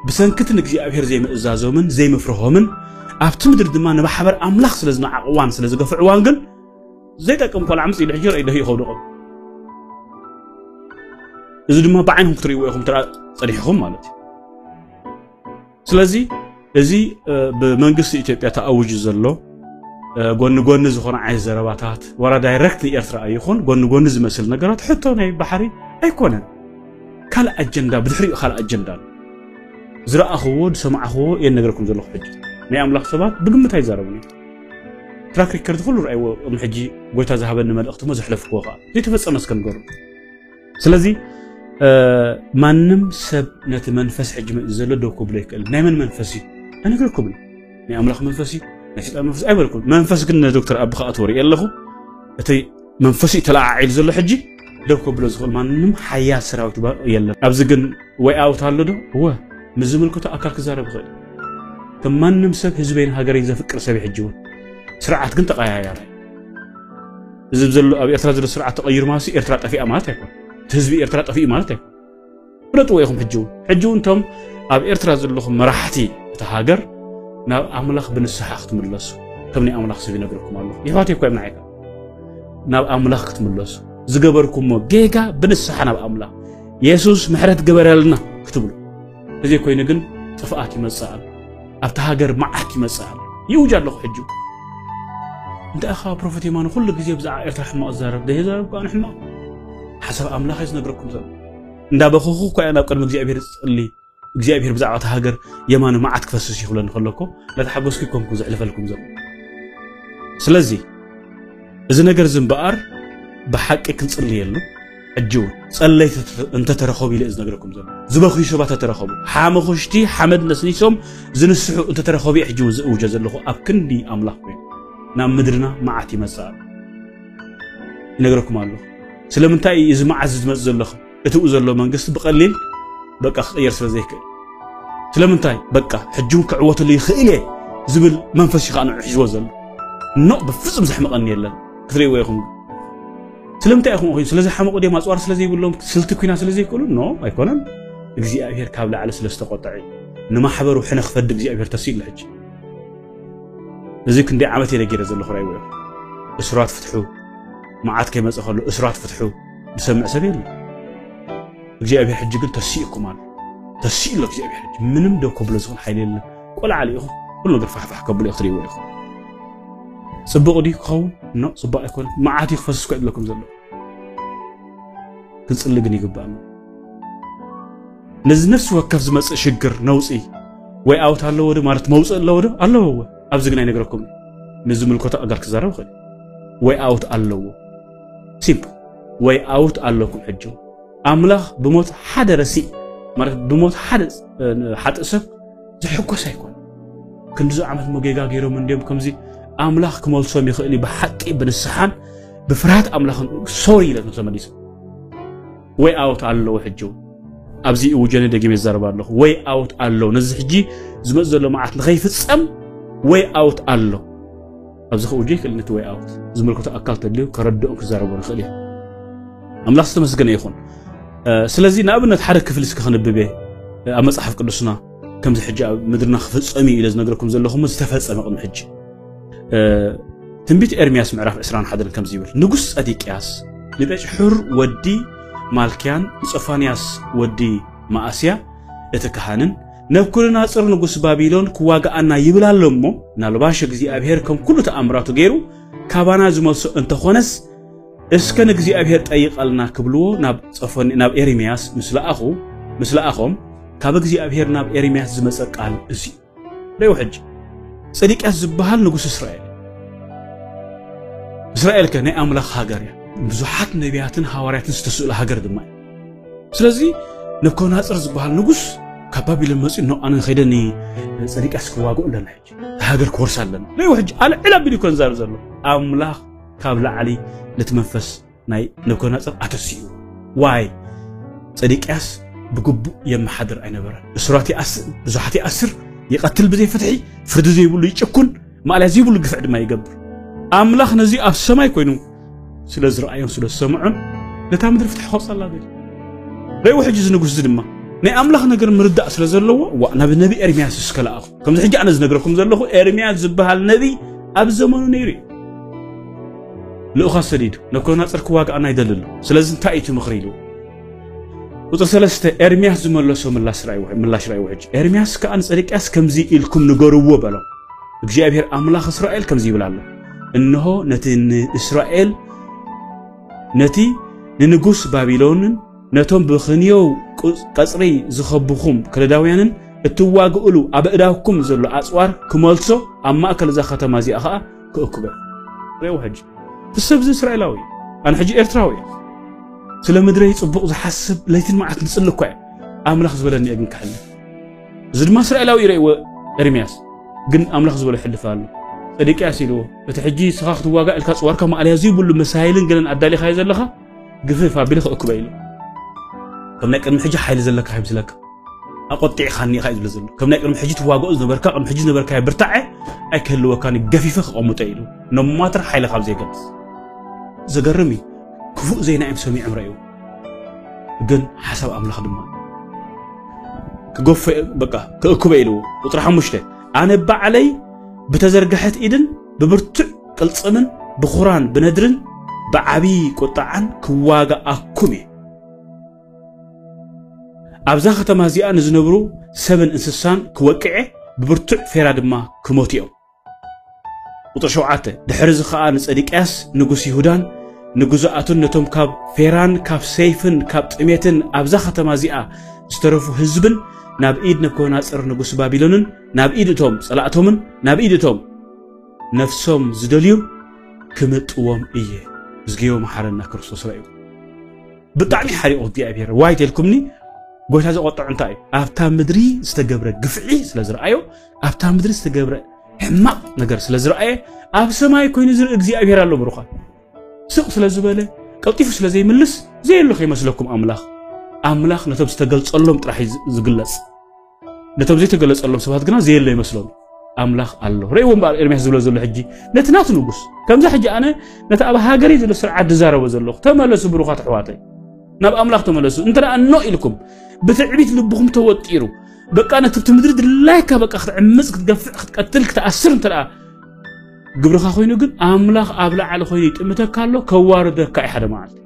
ብሰንክቲ ንእግዚኣብሔር ዘይምእዛዞምን ዘይምፍርሆምን ኣብቲ ምድሪ ድማ ንማሕበር ኣምላኽ ስለ ዝነዓቕዋን ስለ ዝገፍዕዋን ግን ዘይጠቅም ቆልዓ ምስ ኢሉ ሕጂ ረኢ ደፊኡ ከውድቆ እዚ ድማ ብዓይንኩም ክትርእይዎ ኢኹም ትራ ጸኒሕኹም ማለት እዩ። ስለዚ እዚ ብመንግስቲ ኢትዮጵያ ተኣውጁ ዘሎ ጎኒ ጎኒ ዝኾነ ዓይነት ዘረባታት ዋላ ዳይረክት ንኤርትራ ኣይኹን ጎኒ ጎኒ ዝመስል ነገራት ሕቶ ናይ ባሕሪ ኣይኮነን። ካልእ ኣጀንዳ ብድሕሪኡ ካልእ ኣጀንዳ ኣሎ። ዝረኣኽዎ ዝሰማዕኽዎ እየ ነገርኩም ዘለኹ። ሕጂ ናይ ኣምላኽ ሰባት ብግምት ኣይዛረቡን እዮም። ትራክ ሪከርድ ኩሉ ረኣይዎ። ቅድሚ ሕጂ ጎይታ ዝሃበኒ መልእኽቲ ሞ ዘሕለፍክዎ ከዓ ዘይተፈጸመ እስከ ንገሩ። ስለዚ ማንም ሰብ ነቲ መንፈስ ሕጂ መ- ዘሎ ደው ክብሎ ይክእል። ናይ መን መንፈስ እዩ? ኣይነግረኩም እዩ። ናይ ኣምላኽ መንፈስ እዩ፣ ናይ ሰይጣን መንፈስ ኣይበልኩም። መንፈስ ግን ንዶክተር ኣቢ ከኣትዎ ርኢ ኣለኹ። እቲ መንፈስ እዩ ተለዓዒሉ ዘሎ ሕጂ ደው ክብሎ ዝኽእል ማንም ሓያል ሰራዊት ባ- የለን። ኣብዚ ግን ወይ ኣውት ኣሎ ዶ? እወ፣ ምስ ዝምልከቶ ኣካል ክዛረብ ይኽእል። ከም ማንም ሰብ ህዝበይን ሃገረይን ዘፍቅር ሰብ እዩ። ሕጂ እውን ስርዓት ግን ተቐያያሪ። እዚ ዘሎ ኣብ ኤርትራ ዘሎ ስርዓት ተቐይሩ ማለት ኤርትራ ጠፊኣ ማለት ኣይኮን። እቲ ህዝቢ ኤርትራ ጠፊኡ ማለት ኣይኮን። ፍለጥዎ ኢኹም። ሕጂ እውን ሕጂ እውን እቶም ኣብ ኤርትራ ዘለኹም መራሕቲ እቲ ሃገር ናብ ኣምላኽ ብንስሓ ክትምለሱ ከም ናይ ኣምላኽ ሰብ ይነግርኩም ኣለኹ። ይሕዋት እኮ እዮም ንዓይካ ናብ ኣምላኽ ክትምለሱ ዝገበርኩሞ ጌጋ ብንስሓ ናብ ኣምላኽ የሱስ ምሕረት ግበረልና ክትብሉ። እዚ ኮይኑ ግን ጥፍኣት ይመጽእ ኣሎ። ኣብቲ ሃገር መዓት ይመጽእ ኣሎ። ይውጅ ኣለኹ ሕጂ። እንታይ ኢኻ ፕሮፌት የማነ ኩሉ ግዜ ብዛዕባ ኤርትራ ሕማቕ ዝዛረብ? ዘይዛረብ እኳ ሕማቕ ሓሳብ ኣምላኽ እዩ ዝነግረኩም ዘሎ። እንዳበኸኹ እኳ እየ ናብ ቅድሚ እግዚኣብሔር ዝጽሊ። እግዚኣብሔር ብዛዕባ እታ ሃገር የማኑ መዓት ክፈስስ ይኽብለኒ ከለኮ እንዳተሓጎስኩ ይኮንኩ ዘሕልፈልኩም ዘሎ። ስለዚ እዚ ነገር እዚ እምበኣር ብሓቂ ክንጽልየሉ ሕጂ እውን ጸለይቲ እንተተረኸቡ ኢለ ዝነግረኩም ዘሎ ዝበኽዩ ሰባት ተተረኸቡ ሓመኹሽቲ ሓመድ ነስኒሶም ዝንስሑ እንተተረኸቡ ሕጂ እውን ዝእውጀ ዘለኹ ኣብ ክንዲ ኣምላኽ ኮይኑ ናብ ምድርና መዓት ይመጽእ ኣሎ። ይነግረኩም ኣለኹ። ስለምንታይ እዩ እዚ መዓት ዝመጽእ ዘለኹ? እቲኡ ዘሎ መንግስቲ ብቐሊል በቃ ክቕየር ስለ ዘይክእል ስለምንታይ በቃ ሕጂ እውን ክዕወተሉ ይኽእል እየ ዝብል መንፈስ እዩ ከዓ ንዑ ሒዝዎ ዘሎ። ኖ ብፍጹም ዘሕምቐኒ የለን ክትርእይዎ ኢኹም። ስለምንታይ ኢኹም ኮይኑ ስለዝሓመቑ ድዮም ኣፅዋር ስለ ዘይብሎም ስልቲ ኩና ስለ ዘይክእሉ ኖ ኣይኮነን። እግዚኣብሔር ካብ ላዕሊ ስለ ዝተቆጠዐ እዩ። ንማሕበሩ ሕነ ክፈዲ እግዚኣብሔር ተሲእሉ ሕጂ እዚ ክንደይ ዓመት እየ ነጊረ ዘለኹ ራይዎ እስራት ፍትሑ መዓት ከይመፀ ከሎ እስራት ፍትሑ ዝሰምዕ ሰብ የለ እግዚኣብሔር ሕጂ ግን ተሲእኩም ኣሎ ተሲእሎ እግዚኣብሔር ሕጂ ምንም ደው ከብሎ ዝኽእል ሓይሊ የለን ቆልዓ ኢኹም ኩሉ ነገር ፋሕፋሕ ከብሎ ክትሪእዎ ኢኹም ፅቡቕ ድዩ ክኸውን ኖ ፅቡቕ ኣይኮነ መዓት እዩ ክፈስስ እኮ ይብለኩም ዘሎ ክንፅሊ ግን ይግባእ ነዚ ነፍሲ ወከፍ ዝመፅእ ሽግር ነውፂ ወይ ኣውት ኣለዎ ዶ ማለት መውፅእ ኣለዎ ዶ ኣለዎ እወ ኣብዚ ግን ኣይነግረኩም ንዝምልከቶ ኣጋር ክዛረብ ይኽእል ወይ ኣውት ኣለዎ ሲምፕል ወይ ኣውት ኣለኩም ሕጂ ኣምላኽ ብሞት ሓደ ረሲእ ማለት ብሞት ሓደ ሓጥእ ሰብ ዝሕጎስ ኣይኮን ክንዲዚ ዓመት መጌጋ ገይሮም እንዲዮም ከምዚ ኣምላኽ ክመልሶም ይኽእል እዩ ብሓቂ ብንስሓን ብፍርሃት ኣምላኽን ሶሪ ኢለ ተመሊሶም ወይ ኣውት ኣለዎ ሕጂ ኣብዚ እውጀነ ደጊመ ይዛረብ ኣለኹ ወይ ኣውት ኣሎ ነዚ ሕጂ ዝመፅ ዘሎ መዓት ንኸይፍፀም ወይ ኣውት ኣሎ ኣብዚ ከውጆ ይክእል ነቲ ወይ ኣውት ዝምልከቶ ኣካል ተድልዩ ከረድኦም ክዛረቦ ንኽእል እዩ ኣምላኽ ዝተመስገነ ይኹን ስለዚ ንኣብነት ሓደ ክፍሊ እስከ ክንብብ ኣብ መፅሓፍ ቅዱስና ከምዚ ሕጂ ኣብ ምድርና ክፍፀም እዩ ኢለ ዝነግረኩም ዘለኹም ዝተፈፀመ ቅድሚ ሕጂ ትንቢት ኤርምያስ ምዕራፍ ዕስራን ሓደን ከምዚ ይብል ንጉስ ጸዲቅያስ ንቤጭሑር ወዲ ማልክያን ንጾፋንያስ ወዲ መኣስያ እቲ ካህንን፣ ነብኩድናጽር ንጉስ ባቢሎን ክዋግኣና ይብል ኣሎ እሞ፣ ናልባሽ እግዚኣብሔር ከም ኩሉ ተኣምራቱ ገይሩ ካባና ዝመልሶ እንተኾነስ፣ እስከ ንእግዚኣብሔር ጠይቐልና ክብልዎ ናብ ጸፎን-፣ ናብ ኤርምያስ ምስ ለኣኹ፣ ምስ ለኣኾም፣ ካብ እግዚኣብሔር ናብ ኤርምያስ ዝመጸ ቃል እዚ እዩ። ርእዩ ሕጂ፣ ጸዲቅያስ ዝበሃል ንጉስ እስራኤል። እስራኤል ከ ናይ ኣምላኽ ሃገር እያ። ብዙሓት ነቢያትን ሃዋርያትን ዝተስእሉ ሃገር ድማ እዩ። ስለዚ ነብኮናጽር ዝበሃል ንጉስ ካብ ባቢሎን መጺኡ፣ ኖ፣ ኣነ ከይደ ንጸዲቅያስ ክዋግኦ ኣለና፣ ሕጂ እታ ሃገር ክወርሳ ኣለና። ርእዩ ሕጂ፣ ኣልዕል ኣቢሉ እኮ ዝዛረብ ዘሎ። ኣምላኽ ካብ ላዕሊ ነቲ መንፈስ ናይ ነብኮናጽር ኣተሲኡ። ዋይ? ጸዲቅያስ ብግቡእ የመሓድር ኣይነበረን። እሱራት ይኣስር፣ ብዙሓት ይኣስር፣ ይቐትል ብዘይ ፍትሒ፣ ፍርዲ ዘይብሉ ይጭኩን፣ ማእለያ ዘይብሉ ግፍዒ ድማ ይገብር። ኣምላኽ ነዚ ኣብ ሰማይ ኮይኑ ስለ ዝረኣዮን ስለ ዝሰምዖን፣ ነታ ምድሪ ፍትሒ ከውፅኣላ ደልዩ። ርእዩ ሕጂ እዚ ንጉስ እዚ ድማ ናይ ኣምላኽ ነገር ምርዳእ ስለ ዘለዎ፣ ዋ፣ ናብ ነቢ ኤርምያስ እስከ ለኣኹ። ከምዚ ሕጂ ኣነ ዝነግረኩም ዘለኹ፣ ኤርምያስ ዝበሃል ነቢ ኣብ ዘመኑ ነይሩ እዩ። ልኡኻት ሰዲዱ፣ ነብኮናጽር ክዋግኣና ይደሊ ኣሎ። ስለዚ እንታይ እዩ እቲ ምኽሪ ኢሉ? ቁጽሪ ሰለስተ፣ ኤርምያስ ዝመለሶ ምላሽ ራእይ ውሕ-፣ ምላሽ ራእይ ውሕጅ። ኤርምያስ ከኣ ንጸድቅያስ ከምዚ ኢልኩም ንገርዎ በሎ። እግዚኣብሔር ኣምላኽ እስራኤል ከምዚ ይብል ኣሎ። እንሆ ነቲ ንእስራኤል፣ ነቲ ንንጉስ ባቢሎንን ነቶም ብኽንዮው ቁ-፣ ቀጽሪ ዝኸብኹም ከለዳውያንን እትዋግእሉ ኣብ ኣእዳውኩም ዘሎ ኣጽዋር ክመልሶ፣ ኣብ ማእከል እዛ ከተማ እዚኣ ኸኣ ክእክበ። ርእይዎ ሕጂ። እቲ ሰብ እዚ እስራኤላዊ እዩ። ኣነ ሕጂ ኤርትራዊ እየ። ስለ ምድረይ ጽቡቕ ዝሓስብ ለይትን መዓልትን ዝጽሊ እኳ እየ። ኣምላኽ ዝበለኒ እየ ግን ክሕልፍ። እዚ ድማ እስራኤላዊ እዩ ርእይዎ ኤርምያስ። ግን ኣምላኽ ዝበሎ ይሕልፍ ኣሎ። ጸዲቅያስ ኢልዎ፣ እቲ ሕጂ ንስኻ ክትዋጋእ ኢልካ ጽዋርካ ማእለያ ዘይብሉ መሳይልን ገለን ኣዳሊኻዮ ዘለኻ፣ ግፍፍ ኣቢለ ክእክቦ ኢሉ። ከም ናይ ቅድሚ ሕጂ ሓይሊ ዘለካ ይምስለካ። ኣቆጢዕኻኒ ኢኻ እዩ ዝብል ዘሎ። ከም ናይ ቅድሚ ሕጂ ትዋግኦ ዝነበርካ፣ ቅድሚ ሕጂ ዝነበርካዮ ብርታዐ ኣይክህልወካን እዩ፣ ገፊፈ ክቐምጦ ኢሉ። No matter ሓይሊ ካብ ዘይገልጽ። ዘገርም እዩ። ክፉእ ዜና እዮም ሰሚዖም ረእዩ። ግን ሓሳብ ኣምላኽ ድማ ክገፎ፣ በቃ፣ ክእክቦ ኢሉ። ቁጽሪ ሓሙሽተ፣ ኣነ ባዕለይ ብተዘርግሐት ኢድን ብብርቱዕ ቅልጽምን ብኹራን ብነድርን ብዓቢ ቁጥዓን ክዋጋኣኩም እየ። ኣብዛ ከተማ እዚኣ ንዝነብሩ ሰብን እንስሳን ክወቅዐ፣ ብብርቱዕ ፌራ ድማ ክሞቱ እዮም። ቁጽሪ ሸውዓተ፣ ድሕሪ እዚ ኸኣ ንጸዲቅያስ ንጉስ ይሁዳን ንግዙኣቱን ነቶም ካብ ፌራን ካብ ሰይፍን ካብ ጥሜትን ኣብዛ ከተማ እዚኣ ዝተረፉ ህዝብን ናብ ኢድ ነብኮናጽር ንጉስ ባቢሎንን ናብ ኢድ እቶም ጸላእቶምን ናብ ኢድ እቶም ነፍሶም ዝደልዩን ክምጥዎም እየ። እዝግዮ መሓረና ክርስቶስ ረእዩ። ብጣዕሚ ሓሪቑ እግዚኣብሔር። ዋይ ተልኩምኒ፣ ጎይታ ዘቆጥዖ እንታይ እዩ? ኣብታ ምድሪ ዝተገብረ ግፍዒ ስለ ዝረኣዮ፣ ኣብታ ምድሪ ዝተገብረ ሕማቕ ነገር ስለ ዝረኣየ፣ ኣብ ሰማይ ኮይኑ ዝርኢ እግዚኣብሔር ኣሎ ብሩኻት። ስቕ ስለ ዝበለ፣ ቀልጢፉ ስለ ዘይምልስ፣ ዘየሎ ከይመስለኩም ኣምላኽ። ኣምላኽ ነቶም ዝተገልጸሎም ጥራሕ እዩ ዝ-፣ ዝግለጽ። ነቶም ዘይተገለጸሎም ሰባት ግና ዘየሎ ይመስሎም። ኣምላኽ ኣሎ። ርእይዎ እምበኣር ኤርምያስ ዝብሎ ዘሎ ሕጂ ነቲ ናቱ ንጉስ። ከምዛ ሕጂ ኣነ ነቲ ኣብ ሃገረይ ዘሎ ስርዓት ዝዛረቦ ዘለኹ፣ ተመለሱ ብሩኻት ኣሕዋተይ። ናብ ኣምላኽ ተመለሱ። እንተ ደኣ እኖ ኢልኩም፣ ብትዕቢት ልብኹም ተወጢሩ፣ በቃ ነቲ ኣብቲ ምድሪ ድላይካ በቃ ክትዕምጽ፣ ክትገፍዕ፣ ክትቀትል፣ ክትኣስር እንተ ደኣ ግብርኻ ኮይኑ ግን ኣምላኽ ኣብ ላዕሊ ኮይኑ ይጥምተካ ኣሎ፣ ከዋርደካ እዩ ሓደ መዓልቲ።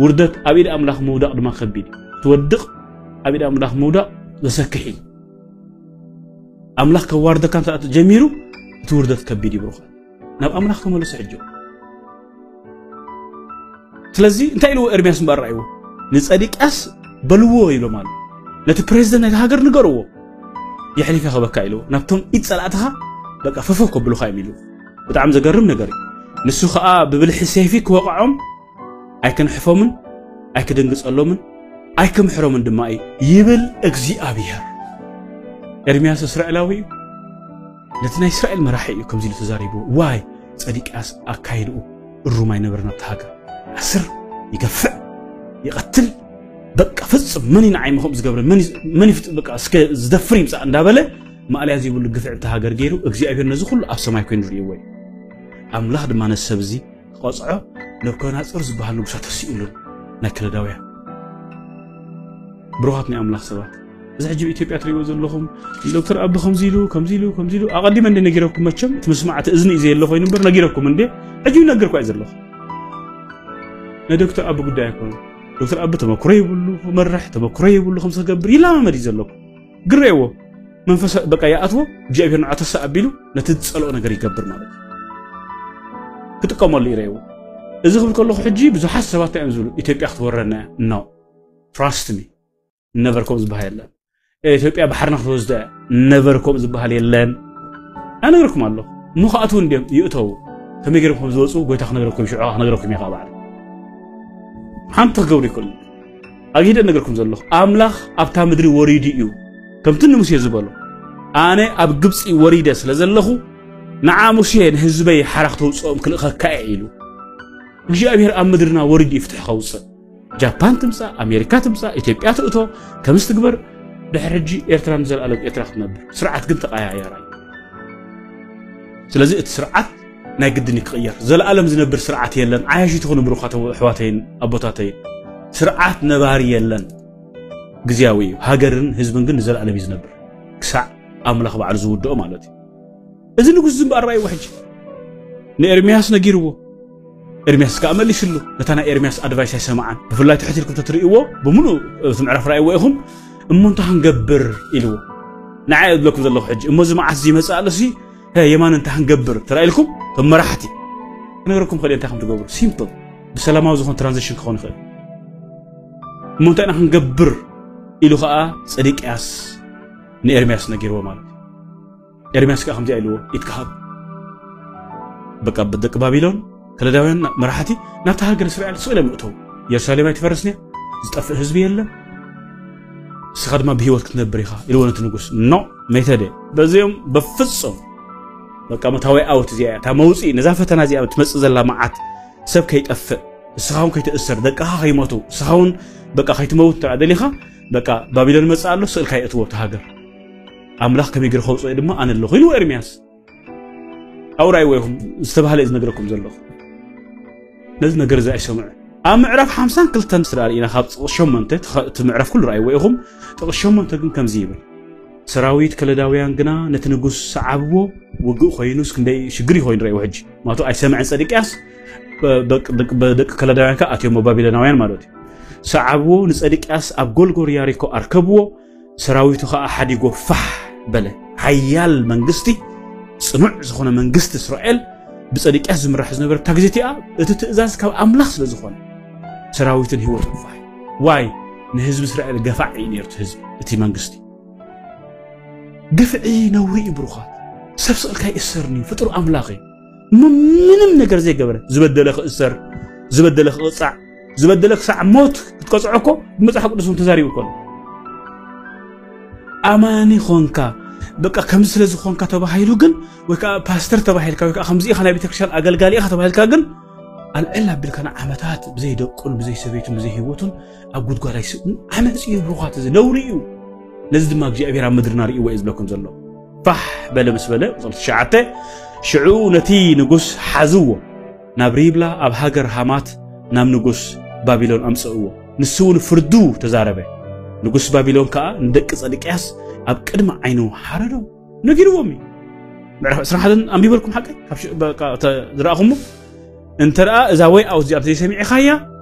ውርደት ኣብ ኢድ ኣምላኽ ምውዳቕ ድማ ከቢድ እዩ። ትወድቕ ኣብ ኢድ ኣምላኽ ምውዳቕ ዘሰክሕ እዩ። ኣምላኽ ከዋርደካ እንተ ጀሚሩ እቲ ውርደት ከቢድ እዩ ብሩኻ። ናብ ኣምላኽ ተመለሱ ሕጂ። ስለዚ እንታይ ኢልዎ ኤርምያስ እምበኣር ረኣይዎ? ንጸዲቅያስ በልዎ ኢሎም ኣሎ። ነቲ ፕሬዚደንት ናይቲ ሃገር ንገርዎ። የሕሊፈ ክበካ ኢልዎ። ናብቶም ኢድ ጸላእትኻ በቃ ፈፈው ከብሉኻ እዮም ኢልዎ። ብጣዕሚ ዘገርም ነገር እዩ። ንሱ ኸኣ ብብልሒ ሰይፊ ክወቕዖም ኣይክንሕፎምን ኣይክድንግጸሎምን ኣይክምሕሮምን ድማ እዩ ይብል እግዚኣብሔር። ኤርምያስ እስራኤላዊ እዩ። ነቲ ናይ እስራኤል መራሒ እዩ ከምዚ ኢሉ ተዛሪቡ። ዋይ ጸዲቅያስ ኣካይድኡ እሩም ኣይነበረን ኣብቲ ሃገር። ኣስር ይገፍዕ ይቐትል። በቃ ፍጹም መን እዩ ንዓይ ምኹም ዝገብረ? መን እዩ፣ መን እዩ ፍጹም በቃ እስከ ዝደፍር ይምጻእ እንዳበለ ማእለያ ዘይብሉ ግፍዒ ኣብቲ ሃገር ገይሩ እግዚኣብሔር ነዚ ኩሉ ኣብ ሰማይ ኮይኑ ርእይዎ እዩ። ኣምላኽ ድማ ነዚ ሰብ እዚ ክቐጽዖ ነብኮናጽር ዝበሃል ንጉሳ ተሲኡሉን ናይ ከለዳውያን። ብሩኻት ናይ ኣምላኽ ሰባት፣ እዚ ሕጂ ኣብ ኢትዮጵያ ትርእይዎ ዘለኹም ዶክተር ኣቢ ከምዚ ኢሉ፣ ከምዚ ኢሉ፣ ከምዚ ኢሉ፣ ኣቐዲመ እንደ ነጊረኩም መቸም እቲ መስማዕቲ እዝኒ እዩ ዘየለ ኮይኑ እምበር ነጊረኩም እንደ ሕጂ ይነግር እኳ እዩ ዘለኹ። ናይ ዶክተር ኣቢ ጉዳይ ኣይኮነን። ዶክተር ኣቢ ተመክሮ ይብሉ፣ መራሕ ተመክሮ ይብሉ፣ ከም ዝገብር ይለማመድ እዩ ዘለኩ። ግረይዎ መንፈስ በቃ ይኣትዎ፣ እግዚኣብሔር ንዓ ተሳ ኣቢሉ ነቲ ዝጸልኦ ነገር ይገብር ማለት እዩ። ክጥቀመሉ ይረይዎ። እዚ ክብል ከለኹ ሕጂ ብዙሓት ሰባት እዮም ዝብሉ ኢትዮጵያ ክትወረና እያ። No, trust me, never ከም ዝበሃል የለን። ኢትዮጵያ ባሕርና ክትወስዳ እያ፣ never ከም ዝበሃል የለን። ኣነግርኩም ኣለኹ። እሞ ክኣትዉ እንድዮም ይእተዉ። ከመይ ገይሮም ከም ዝወፁ ጎይታ ክነግረኩም፣ ሽዑ ክነግረኩም እየ። ባዕለ ሓንቲ ክገብሩ ይክእሉ። ኣግሂደ እነግርኩም ዘለኹ ኣምላኽ ኣብታ ምድሪ ወሪዱ እዩ። ከምቲ ንሙሴ ዝበሎ ኣነ ኣብ ግብፂ ወሪደ ስለ ዘለኹ ንዓ ሙሴ ንህዝበይ ሓራ ክተውፅኦም ክልእኸካ እየ ኢሉ። እግዚኣብሔር ኣብ ምድርና ወሪዱ እዩ ፍትሒ ከውፅእ። ጃፓን ትምፃእ፣ ኣሜሪካ ትምፃእ፣ ኢትዮጵያ ትእቶ፣ ከምዚ ትግበር። ድሕሪ ሕጂ ኤርትራ ንዘለኣለም ኤርትራ ክትነብር። ስርዓት ግን ተቐያያራ እዩ። ስለዚ እቲ ስርዓት ናይ ግድን እዩ ክቕየር። ዘለኣለም ዝነብር ስርዓት የለን። ዓያሹ ትኹኑ ብሩኻት ኣሕዋተይን ኣቦታተይን፣ ስርዓት ነባሪ የለን። ግዝያዊ እዩ። ሃገርን ህዝብን ግን ንዘለኣለም እዩ ዝነብር። ክሳዕ ኣምላኽ ባዕሉ ዝውድኦ ማለት እዩ። እዚ ንጉስ ዝምበኣር ራእይዎ ሕጂ ንኤርምያስ ነጊርዎ። ኤርምያስ ከኣ መሊስሉ። ነታ ናይ ኤርምያስ ኣድቫይስ ኣይሰማዓን። ብፍላይ ትሕት ኢልኩም ተትርእይዎ፣ ብምሉእ እቲ ምዕራፍ ራእይዎ ኢኹም። እሞ እንታይ ክንገብር ኢልዎ። ንዓይ እብለኩም ዘለኹ ሕጂ፣ እሞ እዚ መዓት እዚ ይመጽእ ኣሎ ሲ፣ ሀ፣ የማን እንታይ ክንገብር ተራኢልኩም፣ ከም መራሕቲ ክነግረኩም ክእል እንታይ ከም ትገብሩ። ሲምፕል። ብሰላማዊ ዝኾን ትራንዚሽን ክኸውን ይኽእል። እሞ እንታይ ኢና ክንገብር ኢሉ ከኣ ጸዲቅያስ ንኤርምያስ ነጊርዎ ማለት እዩ። ኤርምያስ ከኣ ከምዚኣ ኢልዎ፣ ኢድካ ሃብ። በቃ ደቂ ባቢሎን፣ ከለዳውያን መራሕቲ ናብታ ሃገር እስራኤል ስቕ ኢሎም ይእተዉ። ኢየሩሳሌም ኣይትፈርስን እያ፣ ዝጠፍእ ህዝቢ የለን። እስኻ ድማ ብህይወት ክትነብር ኢኻ ኢልዎ ነቲ ንጉስ። ኖ፣ መይተ ድየ? በዚኦም በፍጹም። በቃ መታዊ ኣውት እዚኣ እያ፣ እታ መውጽኢ፣ ነዛ ፈተና እዚኣ ትመጽእ ዘላ መዓት፣ ሰብ ከይጠፍእ፣ እስኻ እውን ከይትእሰር፣ ደቅኻ ከይሞቱ፣ እስኻ እውን በቃ ከይትመውት እንተ ደሊኻ፣ በቃ ባቢሎን ይመጽእ ኣሎ፣ ስእልካ የእትዎ ኣብቲ ሃገር። ኣምላኽ ከመይ ገይሩ ከውጽኦ ድማ ኣነ ኣለኹ ኢልዎ ኤርምያስ። ኣብኡ ራእይዎ ኢኹም ዝተባህለ እዩ ዝነግረኩም ዘለኹ። ነዚ ነገር እዚ ኣይሰምዑ። ኣብ ምዕራፍ ሓምሳን ክልተን ስለ ርኢና ካብ ጥቕሲ ሸሞንተ፣ እቲ ምዕራፍ ኩሉ ራእይዎ ኢኹም፣ ጥቕሲ ሸሞንተ ግን ከምዚ ይብል። ሰራዊት ከለዳውያን ግና ነቲ ንጉስ ሰዓብዎ፣ ውግእ ኮይኑስ ክንደይ ሽግር ኮይኑ ረእይዎ። ሕጂ ማቱ ኣይሰምዐን ጸዲቅያስ፣ በ-፣ በ-፣ በ-፣ ደቂ ከለዳውያን ከኣ ኣትዮም ባቢሎናውያን ማለት እዩ። ሰዓብዎ፣ ንጸዲቅያስ ኣብ ጎልጎል ያሪኮ ኣርከብዎ፣ ሰራዊቱ ከኣ ሓዲጎ ፋሕ በለ። ሓያል መንግስቲ፣ ጽኑዕ ዝኾነ መንግስቲ እስራኤል ብጸዲቅያስ ዝምራሕ ዝነበረ እታ ግዜ እቲኣ፣ እቲ ትእዛዝ ካብ ኣምላኽ ስለ ዝኾነ፣ ሰራዊትን ህይወቱን ፋሕ። ዋይ? ንህዝቢ እስራኤል ገፋዕ እዩ ነይሩ እቲ ህዝቢ፣ እቲ መንግስቲ። ግፍዒ ነውሪ እዩ ብሩኻት። ሰብ ስቕልካ ይእሰርኒ፣ ፍጡር ኣምላኽ እዩ። ም-፣ ምንም ነገር ዘይገበረ፣ ዝበደለ ክእሰር፣ ዝበደለ ክቕጻዕ፣ ዝበደለ ክሳዕ ሞት ክትቀጽዖ እኮ ብመጽሓፍ ቅዱስ እውን ተዛሪቡ እኮ ኣሎ። ኣማኒ ኾንካ፣ በቃ ከምዚ ስለ ዝኾንካ ተባሂሉ ግን፣ ወይ ከዓ ፓስተር ተባሂልካ፣ ወይ ከዓ ከምዚ ኢኻ ናይ ቤተክርስትያን ኣገልጋሊ ኢኻ ተባሂልካ ግን፣ ኣልዕል ኣቢልካ ንዓመታት ብዘይ ደቁን፣ ብዘይ ሰበይቱን፣ ብዘይ ህይወቱን ኣብ ጉድጓድ ኣይስእን። ዓመፅ እዩ ብሩኻት፣ እዚ ነውሪ እዩ። ነዚ ድማ እግዚኣብሔር ኣብ ምድርና ርእይዎ እዩ ዝብለኩም ዘሎ። ፋሕ በለ ምስ በለ፣ ቁጽሪ ትሽዓተ፣ ሽዑ ነቲ ንጉስ ሓዝዎ፣ ናብ ሪብላ ኣብ ሃገር ሃማት ናብ ንጉስ ባቢሎን ኣምጽእዎ። ንሱ እውን ፍርዱ ተዛረበ። ንጉስ ባቢሎን ከኣ ንደቂ ጸድቅያስ ኣብ ቅድሚ ዓይኑ ሓረዶም። ነጊርዎም እዩ። ምዕራፍ ዕስራን ሓደን ኣንቢበልኩም ሓቀይ? ካብ ሽ-፣ በቃ፣ ተ-፣ ዝረኣኹሞ? እንተ ደኣ እዛ ወይ ኣውት እዚኣ ዘይሰሚዕኻያ፣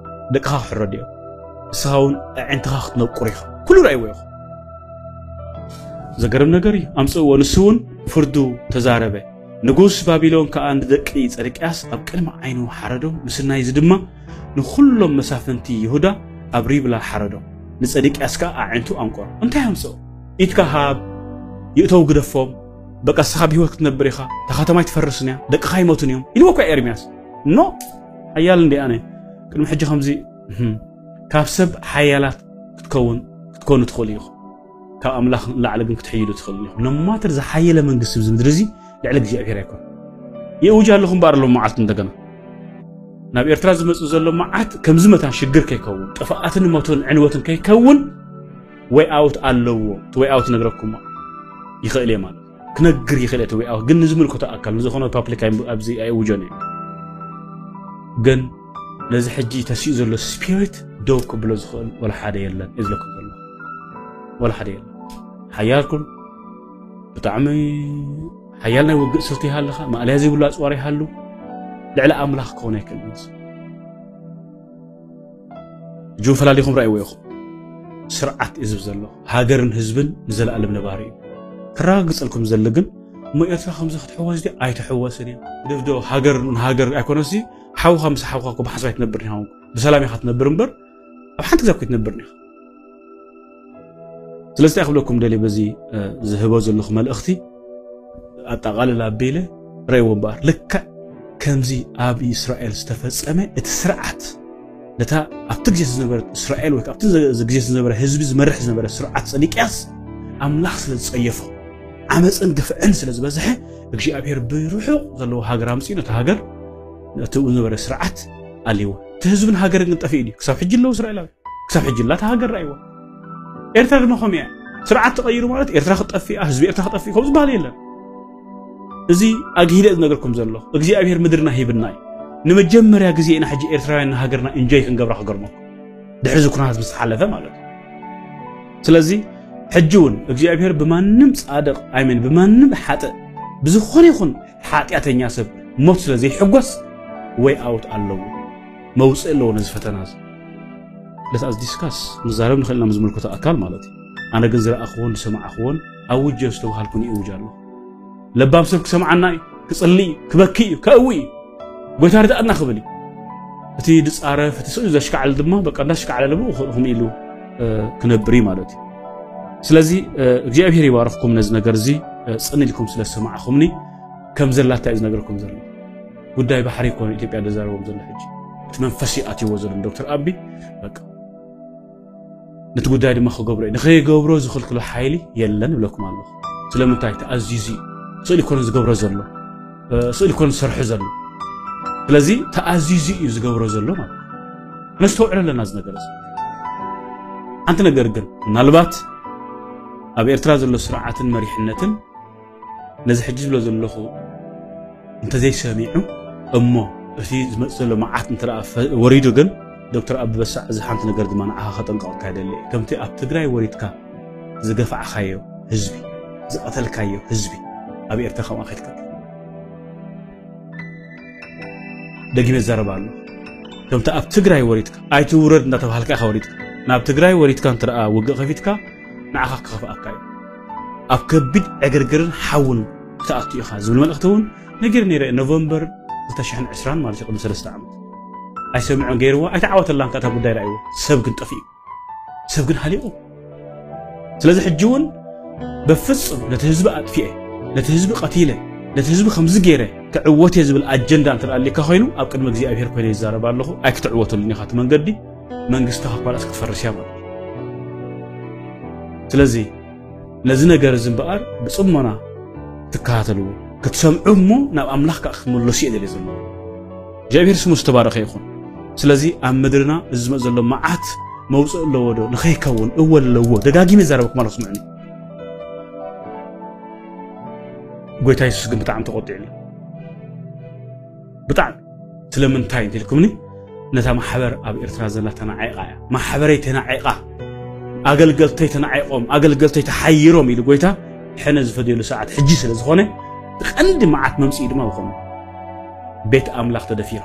ደቅኻ ክሕረዱ እዮም። ንስኻ እውን ኣዒንትኻ ክትነቁር ኢኻ። ኩሉ ረኣይዎ ኢኹም። ዘገርም ነገር እዩ። ኣምጽእዎ፣ ንሱ እውን ፍርዱ ተዛረበ። ንጉስ ባቢሎን ከኣ ንደቂ ጸድቅያስ ኣብ ቅድሚ ዓይኑ ሓረዶም፣ ምስናይ እዚ ድማ ንኹሎም መሳፍንቲ ይሁዳ ኣብ ሪብላ ሓረዶም። ንጸድቅያስ ከኣ ኣዒንቱ ኣንቆሮ። እንታይ ኣምጽኦ? ኢድካ ሃብ፣ ይእተው ግደፎም፣ በቃ ንስኻ ብህይወት ክትነብር ኢኻ፣ እታ ከተማ ኣይትፈርስን እያ፣ ደቅኻ ኣይሞቱን እዮም ኢልዎ እኳ ኤርምያስ። ኖ፣ ሓያል እንዲ ኣነ። ቅድሚ ሕጂ ከምዚ፣ እህም፣ ካብ ሰብ ሓያላት ክትከውን፣ ክትኮኑ ትኽእሉ ኢኹም። ካብ ኣምላኽ ንላዕሊ ግን ክትሕይሉ ትኽእሉ ኢኹም። No matter ዝሓየለ መንግስቲ ኣብዚ ምድሪ እዚ ልዕሊ እግዚኣብሔር ኣይኮነን። ይእውጅ ኣለኹ እምበኣር፣ ሎም መዓልቲ እንደገና ናብ ኤርትራ ዝመጽእ ዘሎ መዓት ከምዚ መታን ሽግር ከይከውን፣ ጥፍኣትን ሞትን ዕንወትን ከይከውን ወይ ኣውት ኣለዎ። እቲ ወይ ኣውት ነግረኩም ይኽእል እየ ማለት ክነግር ይኽእል እየ። እቲ ወይ ኣውት ግን ንዝምልከቶ ኣካል ንዝኾነ ፓብሊክ ኣይ-፣ ኣብዚ ኣይእውጆን እየ። ግን ነዚ ሕጂ ተሲኡ ዘሎ ስፒሪት ደው ክብሎ ዝኽእል ወላ ሓደ የለን እየ ዝብለኩም ዘሎ። ወላ ሓደ የለን። ሓያልኩም ብጣዕሚ ሓያል ናይ ውግእ ስልቲ ይሃልኻ፣ ማእለያ ዘይብሉ ኣጽዋር ይሃሉ፣ ልዕሊ ኣምላኽ ክኾን ኣይክእልን። ሕጂ እውን ፈላሊኹም ረኣይዎ ኢኹም። ስርዓት እዩ ዝብል ዘሎ። ሃገርን ህዝብን ንዘለኣለም ነባሪ እዩ። ከረጋግጸልኩም ዝደሊ ግን፣ እሞ ኤርትራ ከምዚ ክትሕወስ ድያ? ኣይትሕወስን እያ። ግደፍዶ፣ ሃገር ንሃገር ኣይኮነሲ፣ ሓውኻ ምስ ሓውኻ እኮ ብሓንሳብ ኣይትነብርን ኢኻ። ብሰላም ኢኻ ትነብር እምበር፣ ኣብ ሓንቲ ግዜ እኮ ኣይትነብርን ኢኻ። ስለዚ እንታይ ክብለኩም ደልየ በዚ፣ እ፣ ዝህቦ ዘለኹ መልእኽቲ፣ ኣጠቓልል ኣቢለ ረእይዎ እምበኣር፣ ልክዕ ከምዚ ኣብ እስራኤል ዝተፈጸመ እቲ ስርዓት፣ ነታ ኣብቲ ግዜ ዝነበረት እስራኤል ወይ ኣብቲ ዘ-፣ ግዜ ዝነበረ ህዝቢ ዝመርሕ ዝነበረ ስርዓት ሰዲቅያስ ኣምላኽ ስለ ዝጸየፎ፣ ዓመፅን ግፍዕን ስለ ዝበዝሐ፣ እግዚኣብሔር ብርሑቕ ዘለዎ ሃገር ኣምፅኡ ነቲ ሃገር፣ ነቲ ዝነበረ ስርዓት ኣልይዎ። እቲ ህዝብን ሃገርን ግን ጠፊኡ ድዩ? ክሳብ ሕጂ ኣለዉ እስራኤላዊ። ክሳብ ሕጂ ኣላ እታ ሃገር ረኣይዋ። ኤርትራ ድማ ከምኡ እያ። ስርዓት ተቐይሩ ማለት ኤርትራ ክጠፍእ፣ ህዝቢ ኤርትራ ክጠፍእ ከምኡ ዝበሃል የለን። እዚ ኣግሂደ ዝነገርኩም ዘሎ እግዚኣብሔር ምድርና ሂብና እዩ። ንመጀመርያ ግዜ ኢና ሕጂ ኤርትራውያን ንሃገርና ኢንጆይ ክንገብራ ክገርመኩም። ድሕሪ እዚ ኩነታት ምስ ተሓለፈ ማለት እዩ። ስለዚ ሕጂ እውን እግዚኣብሔር ብማንም ጻድቕ ኣይመን ብማንም ሓጥእ ብዝኾነ ይኹን ሓጢኣተኛ ሰብ ሞት ስለ ዘይሕጎስ ወይ ኣውት ኣለዎ፣ መውፅእ ኣለዎ ነዚ ፈተና እዚ። Let us discuss፣ ንዛረብ ንኽእል ኢና ምስ ዝምልከቶ ኣካል ማለት እዩ። ኣነ ግን ዝረኣኽዎን ዝሰማዕኽዎን ኣውጀ ዝተባሃልኩ ንእውጅ ኣለኹ። ለባም ሰብ ክሰምዓና እዩ፣ ክጽሊ እዩ፣ ክበኪ እዩ፣ ከእዊ እዩ። ጎይታ ርድኣና ክብል እዩ። እቲ ዝጻረፍ፣ እቲ ስቕ ዘሽካዕል ድማ በቃ እንዳሽካዕለለ ብኡ ኸ-፣ ከምኡ ኢሉ፣ እ፣ ክነብር እዩ ማለት እዩ። ስለዚ፣ እ፣ እግዚኣብሔር ይባርኽኩም ነዚ ነገር እዚ፣ እ፣ ጽን ኢልኩም ስለ ዝሰማዕኹምኒ ከም ዘላታ እዩ ዝነግረኩም ዘሎ። ጉዳይ ባሕሪ እኮ ኢትዮጵያ ዘዛረቦም ዘሎ ሕጂ። እቲ መንፈስ እዩ ኣትይዎ ዘሎ ዶክተር ኣቢ፣ በቃ ነቲ ጉዳይ ድማ ክገብሮ እዩ። ንኸይገብሮ ዝኽልክሎ ሓይሊ የለን እብለኩም ኣለኹ። ስለምንታይ? ተኣዚዙ እዩ። ስእሊ ኮነ ዝገብሮ ዘሎ፣ እ፣ ስእሊ ኮነ ዝሰርሖ ዘሎ። ስለዚ ተኣዚዙ እዩ ዝገብሮ ዘሎ ማለት እዩ። ነስተውዕሎ ኣለና እዚ ነገር እዚ። ሓንቲ ነገር ግን ምናልባት ኣብ ኤርትራ ዘሎ ስርዓትን መሪሕነትን ነዚ ሕጂ ዝብሎ ዘለኹ እንተዘይሰሚዑ እሞ እቲ ዝመጽእ ዘሎ መዓት እንተ ደኣ ፈ-፣ ወሪዱ ግን ዶክተር ኣቢ በሳዕ እዚ ሓንቲ ነገር ድማ ንዓኻ ከጠንቅቐካ ይደሊ እየ። ከምቲ ኣብ ትግራይ ወሪድካ ዝገፋዕካዮ ህዝቢ፣ ዝቐተልካዮ ህዝቢ ኣብ ኤርትራ ከምኣ ከይትቀትል። ደጊመ ይዛረብ ኣሎ። ከምቲ ኣብ ትግራይ ወሪድካ ኣይትውረድ እንዳተባሃልካ ኢኻ ወሪድካ። ናብ ትግራይ ወሪድካ እንተ ደኣ ውግእ ከፊትካ ንዓኻ ክኸፍኣካ እዩ። ኣብ ከቢድ ዕግርግርን ሓውን ክትኣቱ ኢኻ ዝብል መልእኽቲ እውን ነጊረ ነይረ። ኖቨምበር ክልተ ሽሕን ዕስራን ማለት እዩ፣ ቅድሚ ሰለስተ ዓመት። ኣይሰምዖን ገይርዎ፣ ኣይተዓወተላን ከኣ እታ ጉዳይ ረኣይዎ። ሰብ ግን ጠፊኡ፣ ሰብ ግን ሃሊቑ። ስለዚ ሕጂ እውን በፍጹም ነቲ ህዝቢ ኣጥፊኤ፣ ነቲ ህዝቢ ቀቲለ፣ ነቲ ህዝቢ ከምዚ ገይረ ክዕወት እየ ዝብል ኣጀንዳ እንተ ደኣ ኣሊካ ኮይኑ፣ ኣብ ቅድሚ እግዚኣብሔር ኮይነ ይዛረብ ኣለኹ። ኣይክትዕወተሉን ኢኻ እቲ መንገዲ፣ መንግስቲ ካብ ካልኣስ ክትፈርስ እያ ማለት እዩ። ስለዚ ነዚ ነገር እዚ እምበኣር ብጽሞና ክትከታተልዎ፣ ክትሰምዑ እሞ ናብ ኣምላኽ ከኣ ክትምለሱ እየ ደልየ ዘለኹ። እግዚኣብሔር ስሙ ዝተባረኸ ይኹን። ስለዚ ኣብ ምድርና እዚ ዝመጽእ ዘሎ መዓት መውጽእ ኣለዎ ዶ? ንኸይከውን እወ ኣለዎ። ደጋጊመ ይዛረበኩም ኣለኹ፣ ስምዑኒ። ጎይታ የሱስ ግን ብጣዕሚ ተቖጢዑ ኣሎ። ብጣዕሚ። ስለምንታይ እንተኢልኩምኒ፣ ነታ ማሕበር ኣብ ኤርትራ ዘላ ተናዒቓ እያ። ማሕበረይ ተናዒቓ፣ ኣገልገልተይ ተናዒቖም፣ ኣገልገልተይ ተሓይሮም ኢሉ ጎይታ ሕነ ዝፈድየሉ ሰዓት ሕጂ ስለ ዝኾነ፣ እቲ ቀንዲ መዓት መምጽኢ ድማ ዝኾነ ቤት ኣምላኽ ተደፊራ።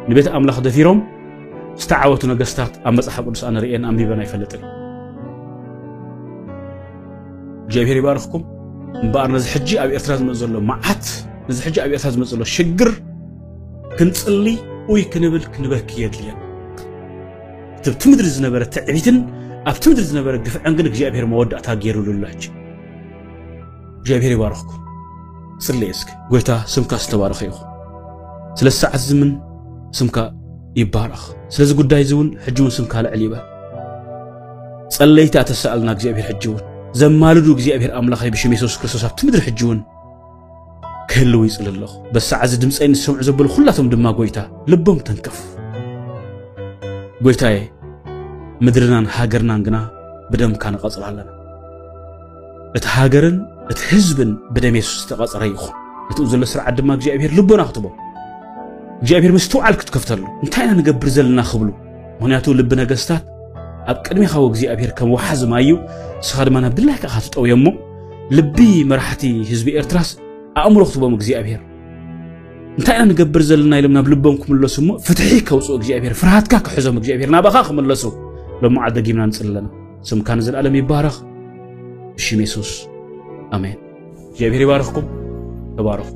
ንቤት ኣምላኽ ደፊሮም ዝተዓወቱ ነገስታት ኣብ መጽሓፍ ቅዱስ ኣነ ርእየን ኣንቢበን ኣይፈልጥን። እግዚኣብሔር ይባርኽኩም። እምበኣር ነዚ ሕጂ ኣብ ኤርትራ ዝመጽእ ዘሎ መዓት፣ ነዚ ሕጂ ኣብ ኤርትራ ዝመጽእ ዘሎ ሽግር ክንጽሊ ወይ ክንብል ክንበኪ የድልየና። እቲ ኣብቲ ምድሪ ዝነበረ ትዕቢትን ኣብቲ ምድሪ ዝነበረ ግፍዕን ግን እግዚኣብሔር መወዳእታ ገይሩሉ ኣሎ። ሕጂ እግዚኣብሔር ይባርኽኩም። ጽልየ እስኪ። ጎይታ ስምካ ዝተባረኸ ይኹን። ስለ ሰዓት እዚ ምን ስምካ ይባረኽ። ስለዚ ጉዳይ እዚ እውን ሕጂ እውን ስምካ ልዕል ይበል። ጸለይቲ ኣተሰኣልና እግዚኣብሔር ሕጂ እውን ዘማልዱ እግዚኣብሔር ኣምላኸይ ብሽም የሱስ ክርስቶስ ኣብቲ ምድሪ ሕጂ እውን ክህልው ይጽሊ ኣለኹ። በዚ ሰዓት እዚ ድምፀይ ንዝሰምዑ ዘበሉ ኩላቶም ድማ ጎይታ ልቦም ተንክፍ። ጎይታዬ ምድርናን ሃገርናን ግና ብደምካ ንቐጽላ ኣለና። እቲ ሃገርን እቲ ህዝብን ብደም የሱስ ዝተቐጸረ ይኹን። ነቲ ዘሎ ስርዓት ድማ እግዚኣብሔር ልቦና ክትቦ እግዚኣብሔር ምስትውዓል ክትከፍተሉ እንታይ ኢና ንገብር ዘለና ክብሉ። ምኽንያቱ ልቢ ነገስታት ኣብ ቅድሚኻ እግዚኣብሔር ከም ወሓዚ ማይ እዩ። ንስኻ ድማ ናብ ድላይካ ኢኻ ትጠውዮ እሞ ልቢ መራሕቲ ህዝቢ ኤርትራስ ኣእምሮ ክትቦም እግዚኣብሔር እንታይ ኢና ንገብር ዘለና ኢሎም ናብ ልቦም ክምለሱ እሞ ፍትሒ ከውፅኡ እግዚኣብሔር፣ ፍርሃትካ ክሕዞም እግዚኣብሔር፣ ናባኻ ክምለሱ ሎምዓል ደጊምና ንፅሊ ኣለና። ስምካ ንዘለኣለም ይባረኽ። ብሽም የሱስ ኣሜን። እግዚኣብሔር ይባርኽኩም። ተባረኹ።